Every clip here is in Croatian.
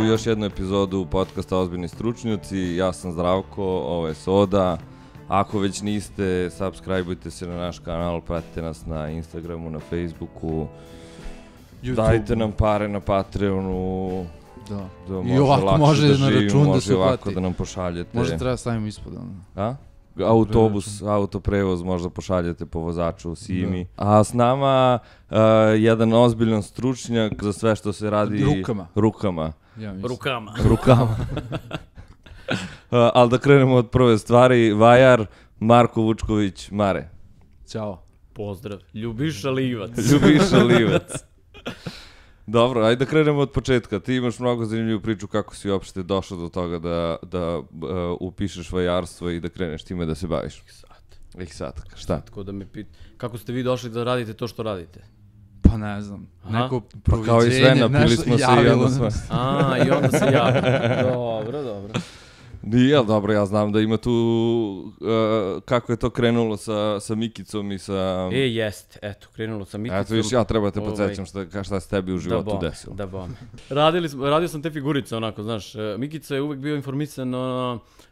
još jednu epizodu podcasta Ozbiljni stručnjaci. Ja sam Zdravko, ovo je Soda. Ako već niste, subscribeujte se na naš kanal, pratite nas na Instagramu, na Facebooku. YouTube. Dajte nam pare na Patreonu. Da. I ovako može na račun da se plati. Da nam pošaljete. Možda treba stavimo ispod. A? Autobus, autoprevoz možda pošaljete po vozaču Simi. A s nama jedan ozbiljan stručnjak za sve što se radi rukama. Ja Rukama. Ali da krenemo od prve stvari. Vajar, Marko Vučković, Mare. Ćao. Pozdrav. Ljubiša Livac. Dobro, ajde da krenemo od početka. Ti imaš mnogo zanimljivu priču kako si uopšte došao do toga da upišeš vajarstvo i da kreneš time da se baviš. Sad. Šta? Tako da me kako ste vi došli da radite to što radite? Pa ne znam. Neko proviđenje, kao i sve, napili smo se i onda sve. I onda se javilo. Dobro. Nije, dobro, ja znam da ima tu, kako je to krenulo sa Mikicom i sa... Jeste, eto, krenulo sa Mikicom. Eto, viš, ja treba te podsjećam šta se tebi u životu desilo. Da bom. Radio sam te figurice, onako, znaš, Mikica je uvek bio informisan,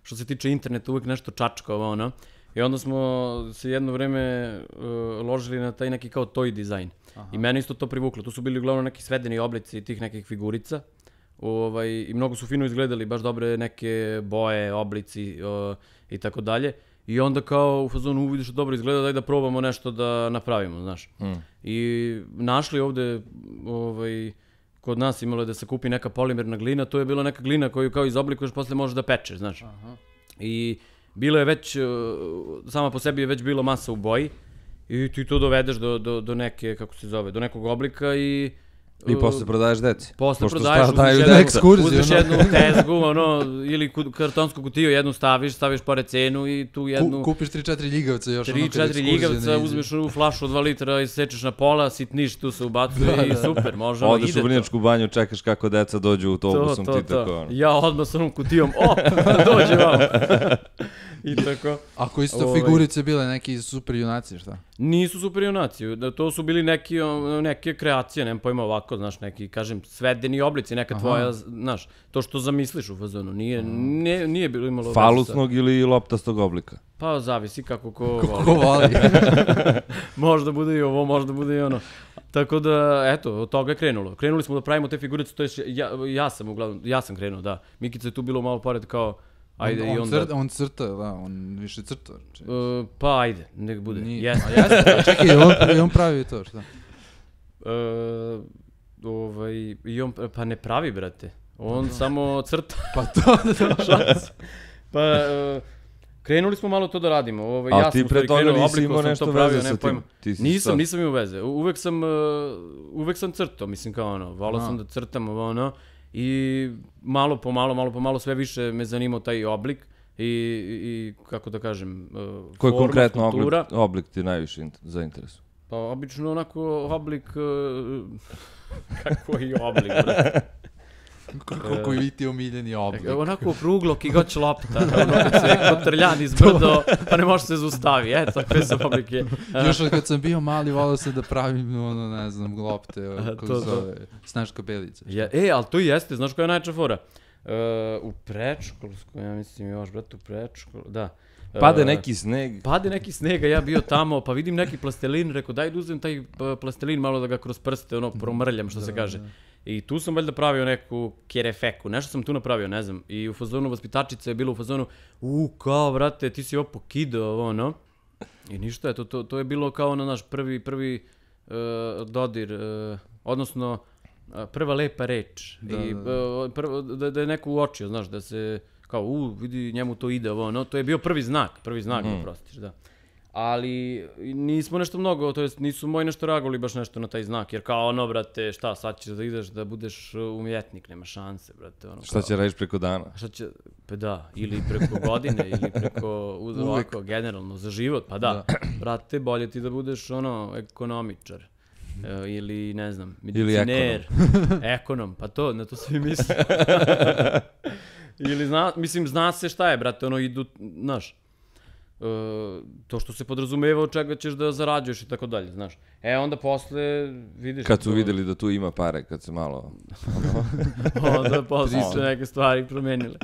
što se tiče interneta, uvek nešto čačkao, ono. I onda smo se jedno vreme ložili na taj neki kao toy dizajn. I mene isto to privuklo, tu su bili uglavnom neki svedeni oblici tih nekih figurica. I mnogo su fino izgledali, baš dobre neke boje, oblici i tako dalje. I onda kao u fazonu vidiš da dobro izgleda, daj da probamo nešto da napravimo, znaš. I našli ovde, kod nas imalo je da se kupi neka polimerna glina, to je bila neka glina koju kao izoblikuješ, posle možeš da pečeš, znaš. I bilo je već, sama po sebi je već bila masa u boji i ti to dovedeš do neke, kako se zove, do nekog oblika i posle prodaješ deci. Posle prodaješ, uzmeš jednu tezgu, ili kartonsku kutiju, jednu staviš pored cenu i tu jednu... Kupiš 3-4 ljigavca još. 3-4 ljigavca, uzmeš u flašu od 2 litra i sečeš na pola, sitniš, tu se ubacuje i super, možemo, ide to. Odeš u Vrnjačku banju, čekaš kako deca dođu autobusom, ti tako. Ja odmah s onom kutijom, dođe vam. I tako. Ako isto figurice bile neki super junaci, šta? Nisu super junaci, to su bili neke kreacije, nemam pojma ovako, znaš, neki, kažem, svedeni oblici, neka tvoja, znaš, to što zamisliš u fazonu, nije bilo imalo... Falusnog ili loptastog oblika? Pa zavisi kako ko voli. Možda bude i ovo, možda bude i ono. Tako da, eto, od toga je krenulo. Krenuli smo da pravimo te figurice, to je, ja sam krenuo, da. Mikica je tu bilo malo pored kao, ajde i onda... On crta, da, on više crta. Pa ajde, nek bude. Jeste. Čekaj, on pravi to, šta? Pa ne pravi, brate. On samo crta. Pa to, Pa, krenuli smo malo to da radimo. A ti pre toga nisi imao nešto veze sa tim? Nisam imao veze. Uvek sam crtao, mislim kao ono, volao sam da crtam ono. I malo po malo sve više me zanimao taj oblik i kako da kažem, koji konkretno oblik ti najviše zainteresuje? Pa obično onako oblik, kako je oblik, brate? Koji vi ti omiljeni oblik? Onako okruglo, kigoć lopta, ono kad se kotrljan izbrdo, pa ne može se zaustavi, eto, koje su oblike. Još od kad sam bio mali, volao sam da pravim, ne znam, lopte, kako se zove, Snaška Belica. Ali to i jeste, znaš koja je najča fora? U predškolsku, ja mislim još, brate, u predškolu, da. Pade neki sneg, a ja bio tamo, pa vidim neki plastelin, rekao daj da uzem taj plastelin malo da ga kroz prste, promrljam, što se kaže. I tu sam valjda pravio neku kerefeku, nešto sam tu napravio, ne znam. I u fazonu vaspitačica je bilo u fazonu, kao, vrate, ti si ovo pokidao, ono. I ništa, to je bilo kao na naš prvi dodir, odnosno prva lepa reč. I da je neko uočio, znaš, da se, kao, vidi, njemu to ide, ono. To je bio prvi znak, da prostiš, da. Ali nismo nešto mnogo, to jest nisu moji nešto reagovali baš nešto na taj znak, jer kao ono, brate, šta, sad ćeš da ideš da budeš umjetnik, nema šanse, brate. Šta će radiš preko dana? Pa da, ili preko godine, ili preko, ovako, generalno, za život, pa da, brate, bolje ti da budeš, ekonomičar, ili, ne znam, mediciner, ekonom, pa to, na to svi misle. Ili, mislim, zna se šta je, brate, idu, znaš. to što se podrazumeva od čega ćeš da zarađuješ i tako dalje, znaš. Onda posle vidiš... Kad su videli da tu ima pare, kad se malo... onda posle su neke stvari promenile.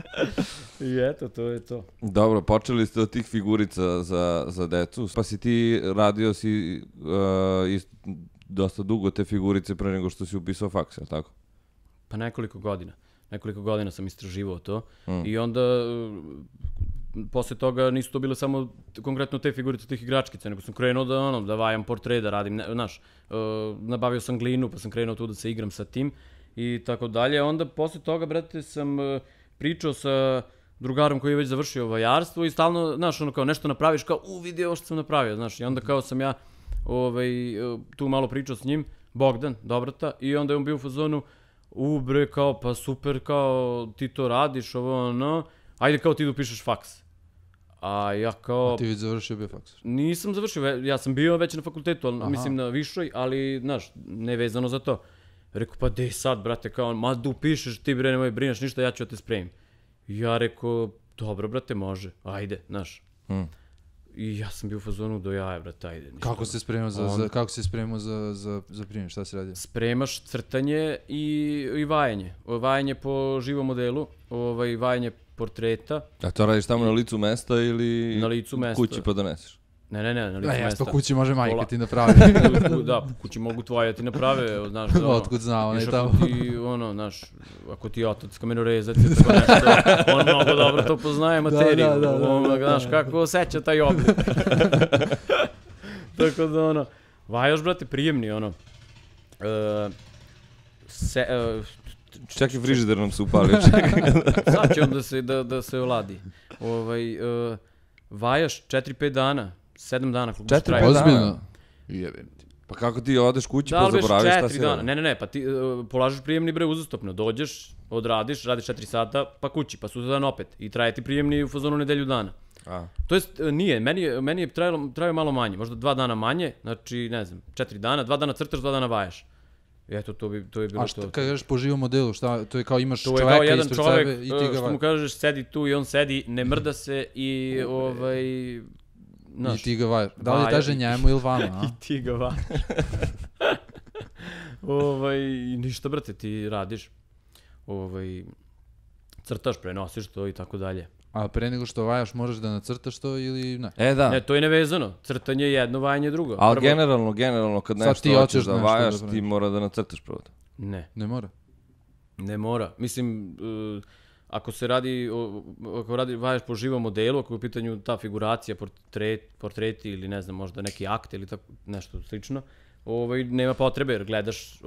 I eto, to je to. Dobro, počeli ste od tih figurica za decu, pa si ti radio dosta dugo te figurice pre nego što si upisao faks, je li tako? Pa nekoliko godina sam istraživao to i onda posle toga nisu to bile samo konkretno te figurice tih igračkica, nego sam krenuo da vajam portret, da radim, znaš, nabavio sam glinu pa sam krenuo tu da se igram sa tim i tako dalje. Onda posle toga, brate, sam pričao sa drugarom koji je već završio vajarstvo i stalno, znaš, ono kao nešto napraviš, kao vidi ovo što sam napravio, znaš, i onda kao sam ja tu malo pričao s njim, Bogdan, Dobrata, i onda je on bio u fazonu, bre, kao, pa super, kao, ti to radiš, ajde kao ti da upišeš faks. A ja kao... A ti već završio bio faks? Nisam završio, ja sam bio već na fakultetu, mislim na višoj, ali, znaš, nevezano za to. Rekao, pa dej sad, brate, kao, ma da upišeš, ti bre, nemoj brineš ništa, ja ću da te spremim. Ja rekao, dobro, brate, može, ajde, znaš. I ja sam bio u fazonu do jaja, brate, ajde. Kako se spremao za prijem, šta si radio? Spremaš crtanje i vajanje. Vajanje po živom modelu, vajanje portreta. A to radiš tamo na licu mesta ili na licu mesta. Kući pa doneseš? Ne, na licu mesta. Pa kući može majka ti napravi. Da, kući mogu tvoje ti naprave, znaš. Otkud znao, onaj tamo. Znaš, ako ti otac kamenorezac i tako nešto, on mnogo dobro to poznaje materiju. Znaš, kako osjeća taj oblik. Tako da, vajaš, brate, prijemni, Čak i frižider nam se upalio. Sad će on da se oladi. Vajaš 4-5 dana, 7 dana. 4 ozbiljno? Jebem ti. Pa kako ti odeš kući pa zaboraviš šta si radio? Ne, pa ti polažeš prijemni, bre, uzastopno. Dođeš, odradiš, radiš 4 sata, pa kući, pa sutradan opet. I traje ti prijemni u fazonu nedelju dana. To jest, nije, meni je trajao malo manje, možda 2 dana manje, znači, ne znam, 4 dana, 2 dana crtaš, 2 dana vajaš. Eto, to je bilo to. A što kad kažeš po živom modelu, šta, to je kao imaš čoveka ispred sebe i ti ga... To je kao jedan čovek, što mu kažeš, sedi tu i on sedi, ne mrda se i I ti ga vajaš. Da li teže njemu ili vama, a? I ti ga vajaš. I ništa, brate, ti radiš. Crtaš, prenosiš to i tako dalje. A pre nego što vajaš, možeš da nacrtaš to ili ne? Da. Ne, to je nevezano. Crtanje je jedno, vajanje je drugo. Ali generalno, kad nešto hoćeš da vajaš, ti mora da nacrtaš prvo. Ne. Ne mora? Ne mora. Mislim, ako vajaš po živom modelu, ako je u pitanju ta figuracija, portreti ili ne znam, možda neki akt ili tako nešto slično, nema potrebe jer gledaš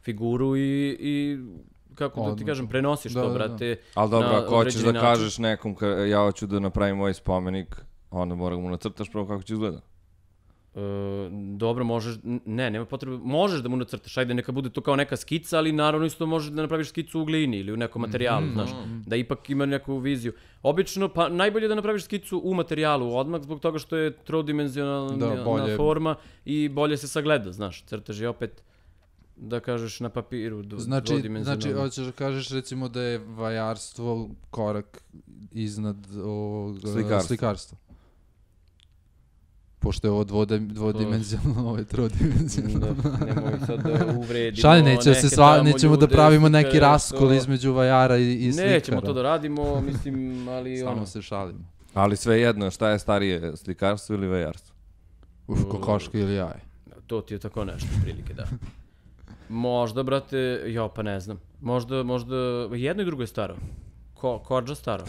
figuru i kako da ti kažem, prenosiš to, brate. Ali dobro, ako hoćeš da kažeš nekom, ja hoću da napravim ovaj spomenik, onda mora mu nacrtaš prvo kako će izgleda. Dobro, možeš, nema potrebe, možeš da mu nacrtaš, ajde neka bude to kao neka skica, ali naravno isto možeš da napraviš skicu u glini ili u nekom materijalu, znaš, da ipak ima neku viziju. Obično, pa najbolje da napraviš skicu u materijalu odmah, zbog toga što je trodimenzionalna forma i bolje se sagleda, znaš, crtaš je opet, da kažeš na papiru, dvodimenzionalno. Znači, hoćeš da kažeš recimo da je vajarstvo korak iznad slikarstva. Pošto je ovo dvodimenzionalno, ovo je trodimenzionalno. Nemoj sad da uvredimo Šalje, nećemo da pravimo neki raskol između vajara i slikara. Nećemo to da radimo, mislim, ali samo se šalimo. Ali sve jedno, šta je starije, slikarstvo ili vajarstvo? Kokoška ili jaje. To ti je tako nešto, prilike, da. Možda, brate, pa ne znam. Možda jedno i drugo je staro. Kođa staro.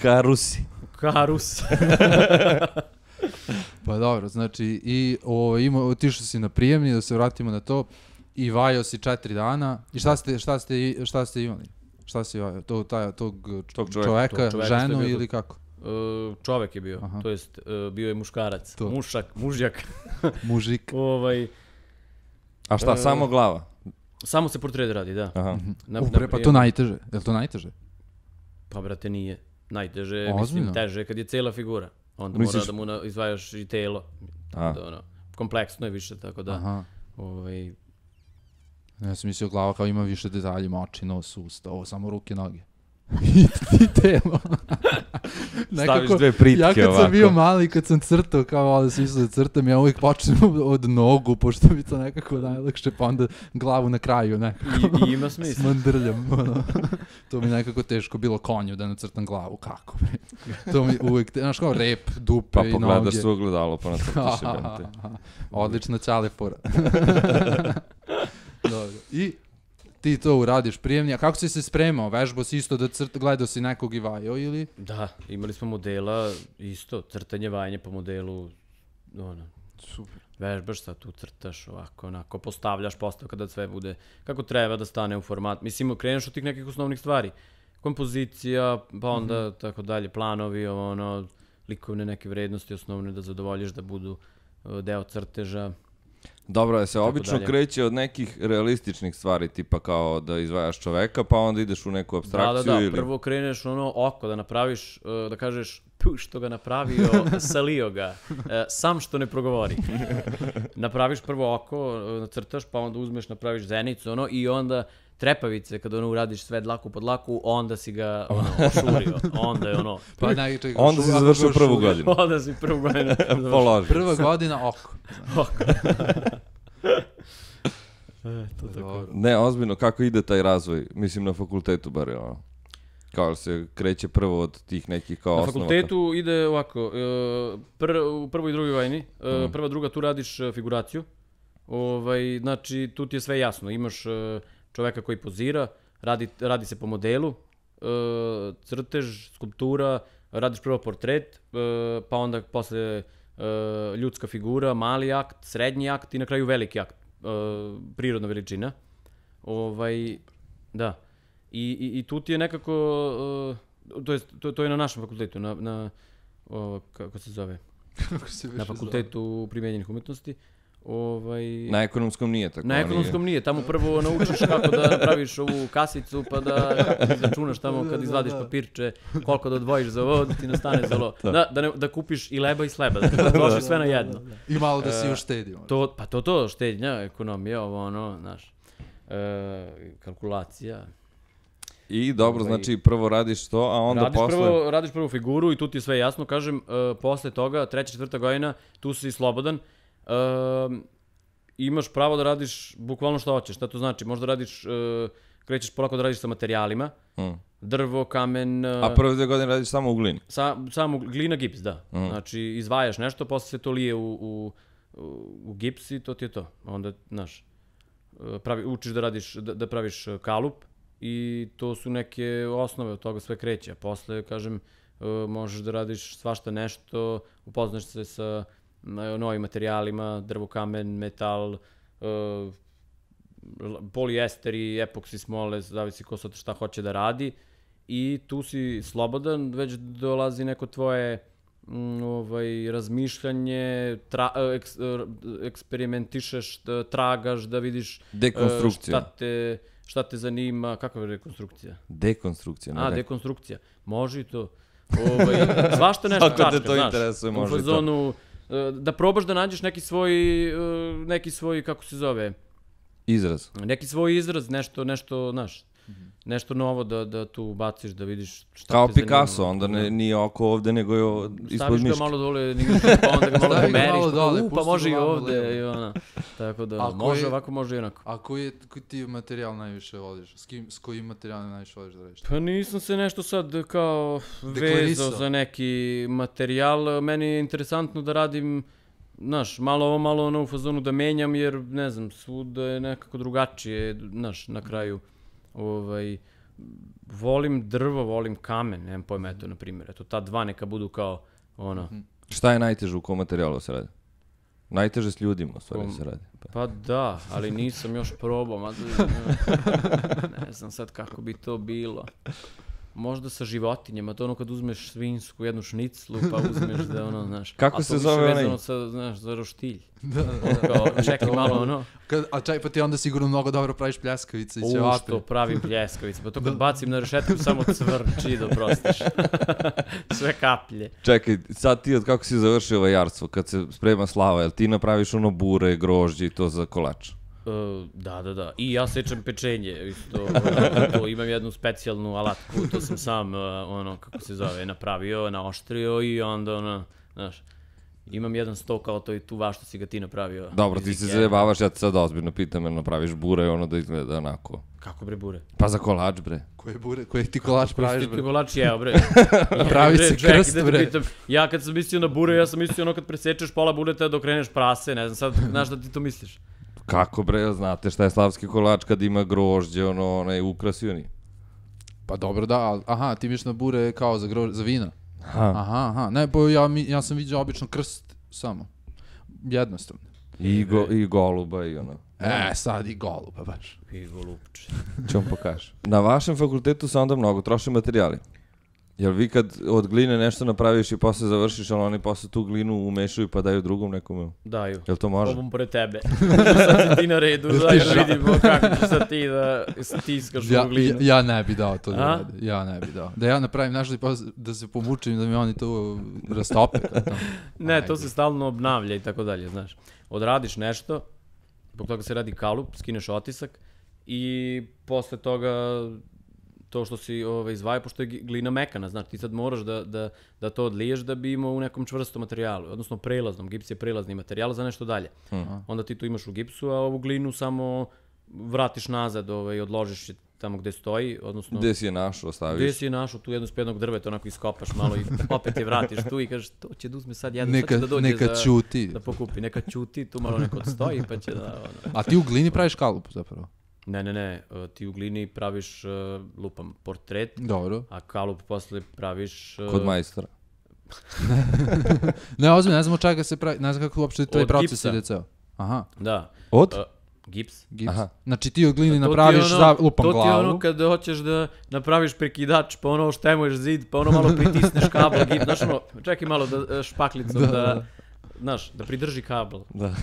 Karusi. Karus. Pa dobro, znači, i otišao si na prijemni, da se vratimo na to, i vajao si 4 dana. I šta ste imali? Šta si vajao? Tog čoveka, ženu ili kako? Čovek je bio, to jest bio je muškarac. Mužjak. Mužik. A šta, samo glava? Samo se portret radi, da. Pa to najteže, je li to najteže? Pa brate nije. Najteže, mislim, teže kad je cela figura. Onda mora da mu izvajaš i telo. Kompleksno je više, tako da. Ja sam mislio glava kao ima više detalji, oči, nos, usta, ovo samo ruke, noge. i telo. Staviš dve pritke ovako. Ja kad sam bio mali, kad sam crtao, kao ali svi su da crtam, ja uvijek počnem od nogu, pošto mi to nekako najlakše, pa onda glavu na kraju nekako. I ima smisla. Smandrljam. To mi nekako teško bilo konju da nacrtam glavu, kako bi. To mi uvijek, znaš kao rep, dupe i noge. Pa pogledaš se ogledalo, pa nacrtaš jebem te. Odlična ćale fora. Dobro. I ti to uradiš prijemni, a kako si se spremao? Vežbao si isto da gledao si nekog i vajao ili? Da, imali smo modela isto, crtanje, vajanje po modelu, Super. Vežbaš sad tu, crtaš ovako, onako, postavljaš postav kada sve bude kako treba da stane u format. Mislim, kreneš od tih nekih osnovnih stvari. Kompozicija, pa onda tako dalje, planovi, likovne neke vrednosti osnovne da zadovoljiš da budu deo crteža. Dobro, se obično kreće od nekih realističnih stvari, tipa kao da izvajaš čoveka, pa onda ideš u neku apstrakciju ili... Da, prvo kreneš oko da napraviš, da kažeš, što ga napravio, salio ga, sam što ne progovori. Napraviš prvo oko, nacrtaš, pa onda uzmeš, napraviš zenicu, i onda trepavice, kada uradiš sve dlaku pod dlaku, onda si ga ošurio. Onda je Pa onda si završio prvu godinu. Onda si prvu godinu. Položio. Prva godina oko. To tako. Ne, ozbiljno, kako ide taj razvoj? Mislim, na fakultetu bar je kao se kreće prvo od tih nekih kao osnova. Na fakultetu ide ovako, u prvoj i drugoj vajni, prva, druga, tu radiš figuraciju. Znači, tu ti je sve jasno. Imaš čoveka koji pozira, radi se po modelu, crtež, skulptura, radiš prvo portret, pa onda posle ljudska figura, mali akt, srednji akt i na kraju veliki akt, prirodna veličina. Da. I tu ti je nekako, to je na našem fakultetu, kako se zove? Na fakultetu primenjenih umetnosti. Na ekonomskom nije tako. Na ekonomskom nije, tamo prvo naučiš kako da napraviš ovu kasicu, pa kako izračunaš tamo kad izvadiš papirče, koliko da odvojiš za ovo, da ti nastane za ovo. Da kupiš i leba i sleba, da trošiš sve na jedno. I malo da si uštedio. Pa to, štednja, ekonomija, znaš, kalkulacija. I dobro, znači prvo radiš to, a onda posle... Radiš prvo figuru i tu ti je sve jasno, kažem, posle toga, 3. 4. godina, tu si slobodan, imaš pravo da radiš bukvalno što hoćeš. Šta to znači? Možda radiš, krećeš polako da radiš sa materijalima, drvo, kamen... A prve 2 godine radiš samo u glini? Samo glina, gips, da. Znači, izvajaš nešto, posle se to lije u gips i to ti je to. Onda, znaš, učiš da praviš kalup i to su neke osnove, od toga sve kreće. A posle, kažem, možeš da radiš svašta nešto, upoznaš se sa novim materijalima, drvo, kamen, metal, polijester i epoksi smole, zavisi ko sad šta hoće da radi. I tu si slobodan, već dolazi neko tvoje razmišljanje, eksperimentišeš, tragaš, da vidiš šta te zanima. Kakva je rekonstrukcija? Dekonstrukcija. Dekonstrukcija. Može i to. Svašta nešto čačka, znaš. U fazonu, da probaš da nađeš neki svoj, kako se zove? Izraz. Neki svoj izraz, nešto, znaš, nešto novo da tu baciš, da vidiš šta te zanima. Kao Picasso, onda nije oko ovde, nego je ispod miške. Staviš ga malo dole, pa onda ga malo pomeriš, pa može i ovde, i ona. Tako da, može ovako, može i onako. A koji ti materijal najviše voliš? S kojim materijalom najviše voliš da radiš? Pa nisam se nešto sad kao vezao za neki materijal. Meni je interesantno da radim, znaš, malo ono u fazonu da menjam, jer, ne znam, svuda je nekako drugačije, znaš, na kraju. Volim drvo, volim kamen, nemam pojma, eto, na primjer. Eto, ta dva neka budu kao, Šta je najteže u kom materijalu se radi? Najteže s ljudima, u stvari, se radi. Pa da, ali nisam još probao, ne znam sad kako bi to bilo. Možda sa životinjama, to kad uzmeš svinsku, jednu šniclu, pa uzmeš da znaš. Kako se zove onaj? A to više vezano znaš, za roštilj. Da. Čekaj malo, A čaj, pa ti onda sigurno mnogo dobro praviš pljeskavice i ćevape. Što pravim pljeskavice, pa to kad bacim na rešetku samo cvrči, da prostiš. Sve kaplje. Čekaj, sad ti od kako si završio vajarstvo, kad se sprema slava, jel ti napraviš bure, grožđe i to za kolač? Da. I ja sečem pečenje, isto, imam jednu specijalnu alatku, to sam sam, kako se zove, napravio, naoštrio i onda, znaš, imam jedan sto kao to i tu vaš što si ga ti napravio. Dobro, ti se zajebavaš, ja te sad ozbiljno pitam, jer napraviš bure i da izgleda onako. Kako bre bure? Pa za kolač, bre. Koje bure, koje ti kolač praviš, bre? Koji ti kolač jeo, bre? Pravi se krst, bre. Ja kad sam mislio na bure, ja sam mislio kad presečeš pola bureta dok kreneš prase, ne znam sad, znaš da ti to misliš. Kako, bre, znate šta je slavski kolač kad ima grožđe, onaj ukrasioni? Pa dobro, da, aha, ti miš na bure kao za vina. Aha, ne, bo ja sam vidio obično krst samo. Jednostavno. I goluba i ono. Sad i goluba baš. I golubče. Čo vam pokažem. Na vašem fakultetu se onda mnogo troše materijali. Jel vi kad od gline nešto napraviš i posle završiš, ali oni posle tu glinu umešaju pa daju drugom nekome? Daju. Jel to može? Ovom pored tebe. Sad si ti na redu, daj da vidimo kako ćeš sad ti da stiskaš u glinu. Ja ne bi dao to da radi. Ja ne bi dao. Da ja napravim nešto da se pomučim, da mi oni to rastope. Ne, to se stalno obnavlja i tako dalje, znaš. Odradiš nešto, zbog toga se radi kalup, skineš otisak i posle toga to što si izvajao, pošto je glina mekana, znaš, ti sad moraš da to odliješ da bi imao u nekom čvrstom materijalu, odnosno prelaznom, gips je prelazni materijal za nešto dalje. Onda ti to imaš u gipsu, a ovu glinu samo vratiš nazad, odložiš je tamo gde stoji, odnosno... Gde si je našao, ostaviš? Gde si je našao, tu jednu spednog drveta, onako iskopaš malo i opet je vratiš tu i kažeš, to će da uzme sad jedno, sad će da dođe da pokupi, neka ćuti, tu malo neko odstoji pa će da... A ti u glini praviš kalup zapravo? Ne, ti u glini praviš, lupam, portret, dobro, a kalup posle praviš... Kod majstora. Ne, ozbiljno, ne znam od čega se pravi, ne znam kako uopšte taj proces ide ceo. Aha. Da. Od? Gips. Aha. Znači ti od glini napraviš za lupam glavu. To ti je ono kad hoćeš da napraviš prekidač, pa ono štemuješ zid, pa ono malo pritisneš kabel, gips, znaš ono, čekaj malo da špaklicom znaš, da pridrži kabel. Da.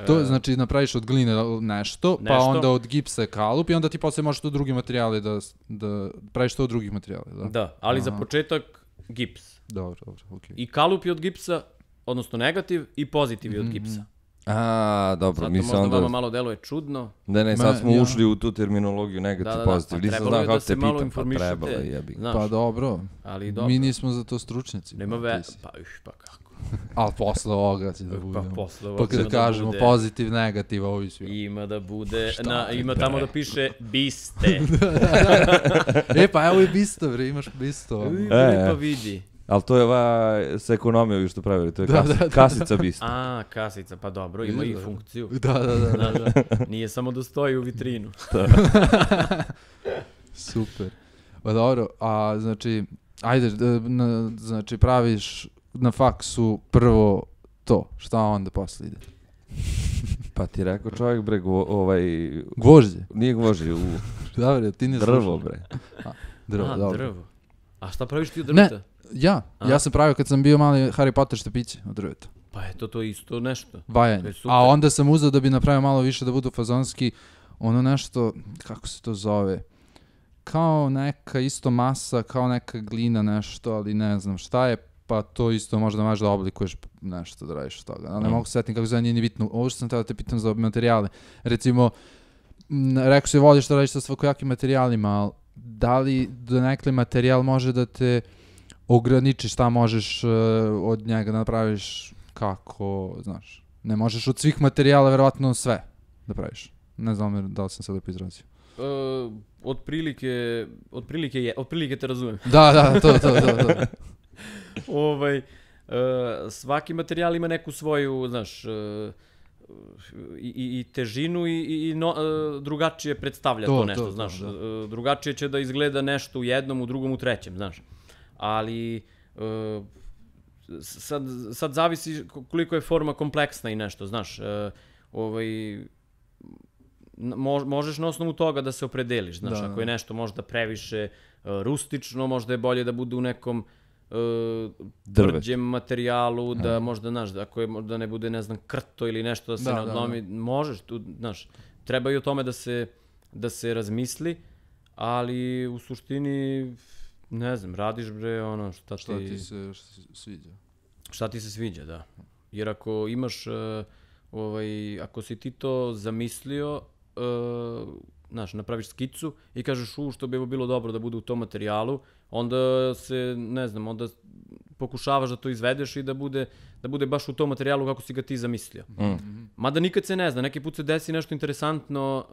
To znači napraviš od gline nešto, pa onda od gipsa kalup i onda ti posle možeš to drugi materijali da praviš to od drugih materijala, da? Da, ali za početak gips. Dobro, okej. I kalup je od gipsa, odnosno negativ i pozitiv je od gipsa. A, dobro, mi se onda... Sad to možda vama malo deluje čudno. Ne, sad smo ušli u tu terminologiju negativ, pozitiv. Nisam znao kako te pitam, pa trebalo je. Pa dobro, mi nismo za to stručnjaci. Nema pa kako. Ali posle ovoga će da bude. Pa kada kažemo pozitiv, negativ, ovi svi. Ima da bude, ima tamo da piše biste. Pa evo i bisto, bre, imaš bisto. Pa vidi. Ali to je sa ekonomijom vi što pravili, to je kasica bista. A, kasica, pa dobro, ima i funkciju. Da. Nije samo da stoji u vitrinu. Super. Pa dobro, a znači, ajde, znači praviš na faksu prvo to, šta onda posle ide? Pa ti rekao čovjek, bre, gvožđe? Nije gvožđe, Dobre, ti ne drvo, bre. Drvo, dobro. Drvo. A šta praviš ti od drveta? Ja sam pravio kad sam bio mali Harry Potter štapiće od drveta. Pa eto, to je isto nešto. Vajanje. A onda sam uzeo da bi napravio malo više da budu fazonski, ono nešto, kako se to zove, kao neka isto masa, kao neka glina nešto, ali ne znam šta je, pa to isto možda možeš da oblikuješ nešto da radiš od toga. Ali ne mogu setiti kako zove, nije ni bitno. Ovo što sam tada te pitam za materijale. Recimo, rekao si voliš da radiš sa svakojakim materijalima, ali da li donekle materijal može da te ograniči šta možeš od njega napraviš kako, znaš. Ne možeš od svih materijala verovatno sve da praviš. Ne znam da li sam se lepo izrazio. Otprilike te razumem. Da, to. Svaki materijal ima neku svoju, znaš, i težinu i drugačije predstavlja to nešto, znaš. Drugačije će da izgleda nešto u jednom, u drugom, u trećem, znaš. Ali sad zavisi koliko je forma kompleksna i nešto, znaš. Možeš na osnovu toga da se opredeliš, znaš. Ako je nešto možda previše rustično, možda je bolje da bude u nekom tvrđem materijalu, da možda, znaš, ako je možda ne bude, ne znam, krto ili nešto da se ne odlomi, možeš tu, znaš, treba i o tome da se razmisli, ali u suštini, ne znam, radiš, bre, ono, šta ti se sviđa. Šta ti se sviđa, da. Jer ako imaš ako si ti to zamislio, znaš, napraviš skicu i kažeš što bi bilo dobro da bude u tom materijalu, onda se, ne znam, onda pokušavaš da to izvedeš i da bude baš u tom materijalu kako si ga ti zamislio. Mada nikad se ne zna, neki put se desi nešto interesantno,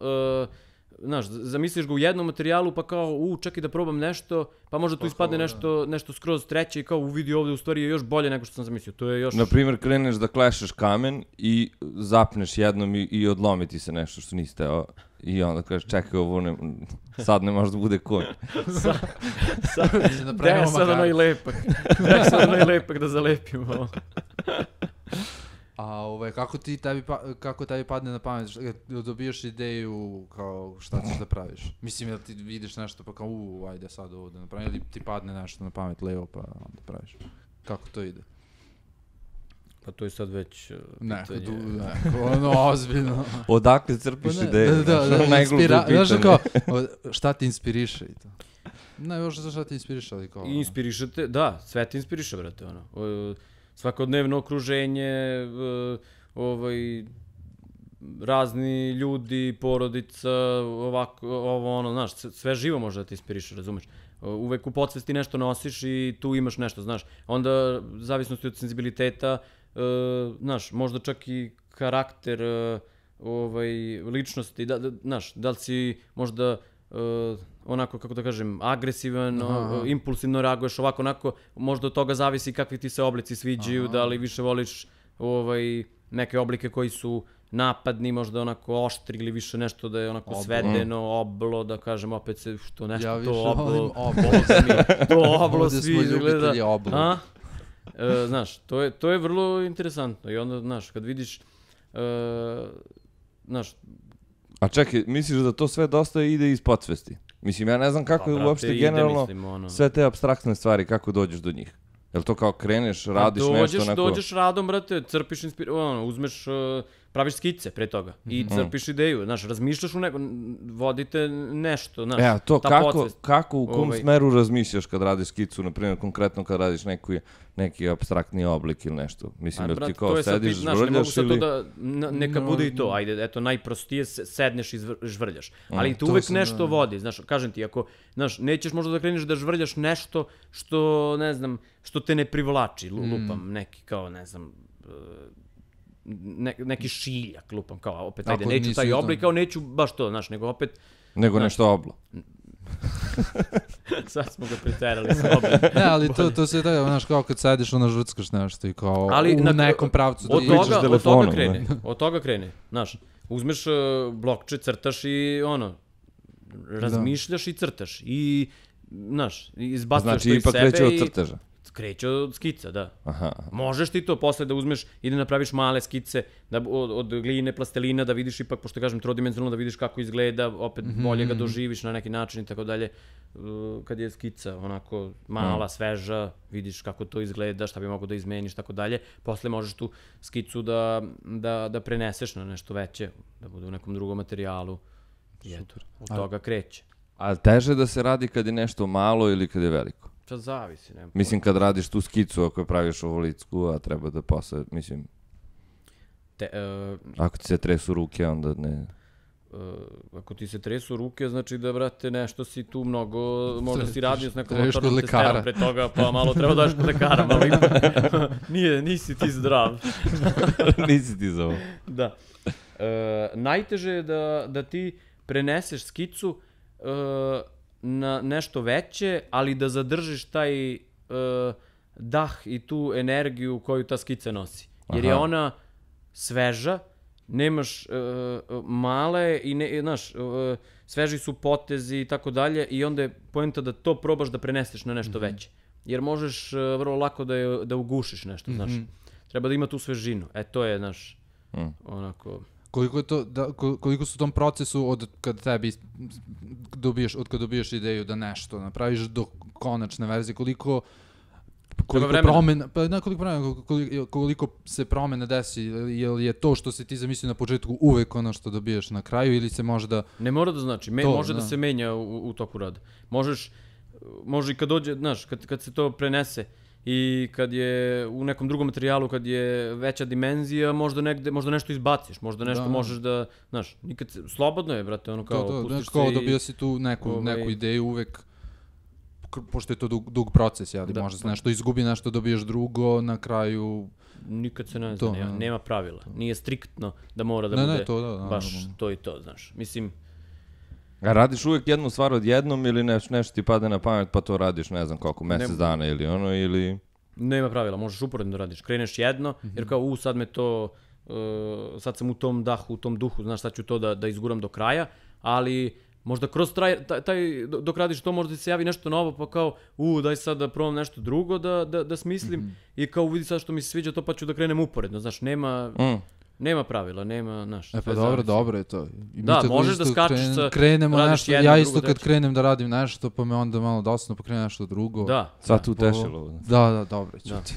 znaš, zamisliš ga u jednom materijalu pa kao, čekaj da probam nešto, pa možda tu ispadne nešto skroz treće i kao vidi ovde u stvari je još bolje nego što sam zamislio. To je još... Naprimjer, kreneš da klešeš kamen i zapneš jednom i odlomi ti se nešto što nisi teo. I onda kažeš, čekaj, ovo sad ne može da bude konj. Daj sad onaj lepak da zalepimo. A kako tebi padne na pamet, dobijaš ideju kao šta ćeš da praviš? Mislim da ti vidiš nešto pa kao ajde sad ovo da napravim, ili ti padne nešto na pamet levo pa onda praviš. Kako to ide? Pa to je sad već pitanje. Ozbiljno. Odakle crpiš ideje? Znaš kao, šta ti inspiriše i to? Ne, još šta ti inspiriše, ali kao... Inspirišete, da, sve ti inspiriše, brate, svakodnevno okruženje, razni ljudi, porodica, ovako, znaš, sve živo može da te inspiriše, razumeš? Uvek u podsvesti nešto nosiš i tu imaš nešto, znaš. Onda, zavisnosti od senzibiliteta, znaš, možda čak i karakter, ličnosti, znaš, da li si možda onako, kako da kažem, agresivan, impulsivno reaguješ ovako, onako, možda od toga zavisi kakvi ti se oblici sviđaju, da li više voliš neke oblike koji su napadni, možda onako oštri ili više nešto da je onako svedeno, oblo, da kažem, opet se, što nešto, ja to oblo svi izgleda. Znaš, to je vrlo interesantno i onda, znaš, kad vidiš, znaš... A čekaj, misliš da to sve dosta ide iz podsvesti? Mislim, ja ne znam kako je uopšte generalno sve te apstraktne stvari, kako dođeš do njih. Jel to kao kreneš, radiš nešto onako... Dođeš radom, brate, crpiš uzmeš, praviš skice pre toga i crpiš ideju, znaš, razmišljaš u vodite nešto, znaš, to kako, u kom smeru razmišljaš kad radiš skicu, na primjer, konkretno kad radiš neki apstraktni oblik ili nešto? Mislim, da ti kao sediš, žvrljaš ili... Neka bude i to, ajde, eto, najprostije, sedneš i žvrljaš, ali tu uvek nešto vodi, znaš, kažem ti, ako, znaš, nećeš možda da kreneš da žvrljaš nešto što, ne znam, što te ne privlači, lupam, neki kao, ne znam, neki šiljak, lupam, kao, opet, ajde, neću taj oblik, kao neću baš to, znaš, nego opet... Nego nešto oblo. Sad smo ga preterali sa oblik. Ne, ali to se da, znaš, kao kad sediš, ono žvrckaš nešto i kao u nekom pravcu. Od toga krene, znaš, uzmeš blokče, crtaš i ono, razmišljaš i crtaš i, znaš, izbacuješ to iz sebe i... Znači, ipak kreće od crteža. Kreće od skica, da. Možeš ti to posle da uzmeš i da napraviš male skice od gline, plastelina, da vidiš ipak, pošto kažem trodimenzionalno, da vidiš kako izgleda, opet bolje ga doživiš na neki način i tako dalje. Kad je skica onako mala, sveža, vidiš kako to izgleda, šta bi mogo da izmeniš, tako dalje. Posle možeš tu skicu da preneseš na nešto veće, da bude u nekom drugom materijalu. I eto, od toga kreće. A teže da se radi kad je nešto malo ili kad je veliko? Sad zavisi, nema. Mislim, kad radiš tu skicu, ako je praviš ovolicku, a treba da posle, mislim... Ako ti se tresu ruke, onda ne... Ako ti se tresu ruke, znači da, brate, nešto si tu mnogo... Možda si radio s nekom motornom testerom pre toga, pa malo treba daš kod lekara, malo ipak... Nisi ti zdrav. Nisi ti za ovo. Da. Najteže je da ti preneseš skicu na nešto veće, ali da zadržiš taj dah i tu energiju koju ta skica nosi. Jer je ona sveža, nemaš male i znaš, sveži su potezi i tako dalje i onda je poenta da to probaš da preneseš na nešto veće. Jer možeš vrlo lako da ugušiš nešto, znaš. Treba da ima tu svežinu. To je, znaš, onako... Koliko su u tom procesu od kad dobiješ ideju da nešto napraviš do konačne verzije, koliko se promena desi, je to što si ti zamislio na početku uvek ono što dobiješ na kraju ili se možda... Ne mora da znači, može da se menja u toku rada. Može i kad dođe, znaš, kad se to prenese i kad je u nekom drugom materijalu, kad je veća dimenzija, možda nešto izbaciš, možda nešto možeš da, znaš, nikad slobodno je, brate, ono kao pustiš se i... Kao dobio si tu neku ideju uvek, pošto je to dug proces, jel? Možda se nešto izgubi, nešto dobiješ drugo, na kraju... Nikad se ne zna, nema pravila. Nije striktno da mora da bude baš to i to, znaš. Mislim... A radiš uvek jednu stvar odjednom ili nešto ti pada na pamet pa to radiš, ne znam koliko, mesec dana ili ono, ili... Nema pravila, možeš uporedno da radiš. Kreneš jedno, jer kao, sad me to... sad sam u tom dahu, u tom duhu, znaš, sad ću to da izguram do kraja, ali... Možda kroz dok radiš to, možda se javi nešto novo, pa kao, daj sad da probam nešto drugo da smislim i kao vidi sad što mi se sviđa to, pa ću da krenem uporedno, znaš, nema pravila, nema, znaš. Pa dobro je to. Da, možeš da skačeš sa... Krenemo nešto, ja isto kad krenem da radim nešto, pa me onda malo dosadno, pa krenem nešto drugo. Da. Sad tu tešilo. Da, dobro ću ti.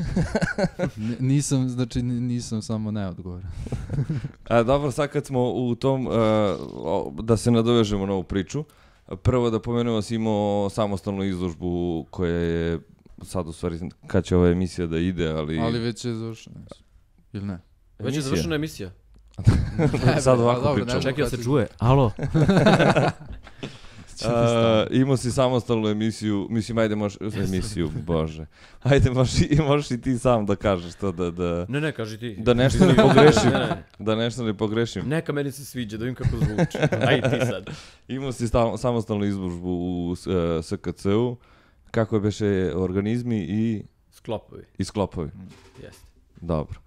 Nisam samo neodgovoran. Dobro, sad kad smo u tom, da se nadovežemo na ovu priču, prvo da pomenemo si imao samostalnu izložbu koja je, sad u stvari, kad će ova emisija da ide, ali... Ali već je završena, ili ne? Već je završena emisija. Sad ovako pričamo. Čekaj da se čuje. Alo? Imao si samostalnu emisiju, mislim, ajde možeš, emisiju, bože. Ajde, možeš i ti sam da kažeš to da... Ne, kaži ti. Da nešto ne pogrešim. Da nešto ne pogrešim. Neka meni se sviđa, da vidim kako zvuči. Ajde ti sad. Imao si samostalnu izložbu u SKC-u. Kako je beše organizmi i... Sklopovi. Jeste. Dobro.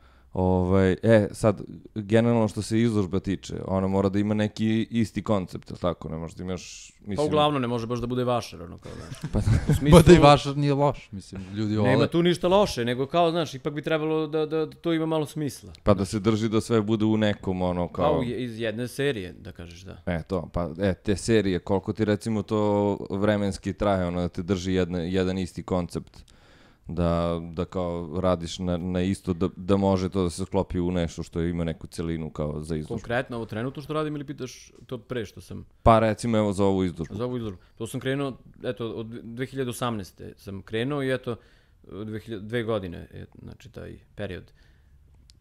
Sad, generalno što se izložba tiče, ona mora da ima neki isti koncept, ili tako, ne može da imaš... Pa uglavnom ne može baš da bude vašar, ono kao, znaš. Pa da i vašar nije loš, mislim, ljudi vole. Nema tu ništa loše, nego kao, znaš, ipak bi trebalo da to ima malo smisla. Pa da se drži da sve bude u nekom, ono, kao... Pa iz jedne serije, da kažeš, da. Te serije, koliko ti recimo to vremenski traje, ono, da te drži jedan isti koncept. Da kao radiš na isto, da može to da se sklopi u nešto što ima neku celinu kao za izložbu. Konkretno ovo trenutno što radim ili pitaš to pre što sam... Pa recimo evo za ovu izložbu. Za ovu izložbu. To sam krenuo, eto, od 2018. sam krenuo i eto, 2 godine je, znači, taj period.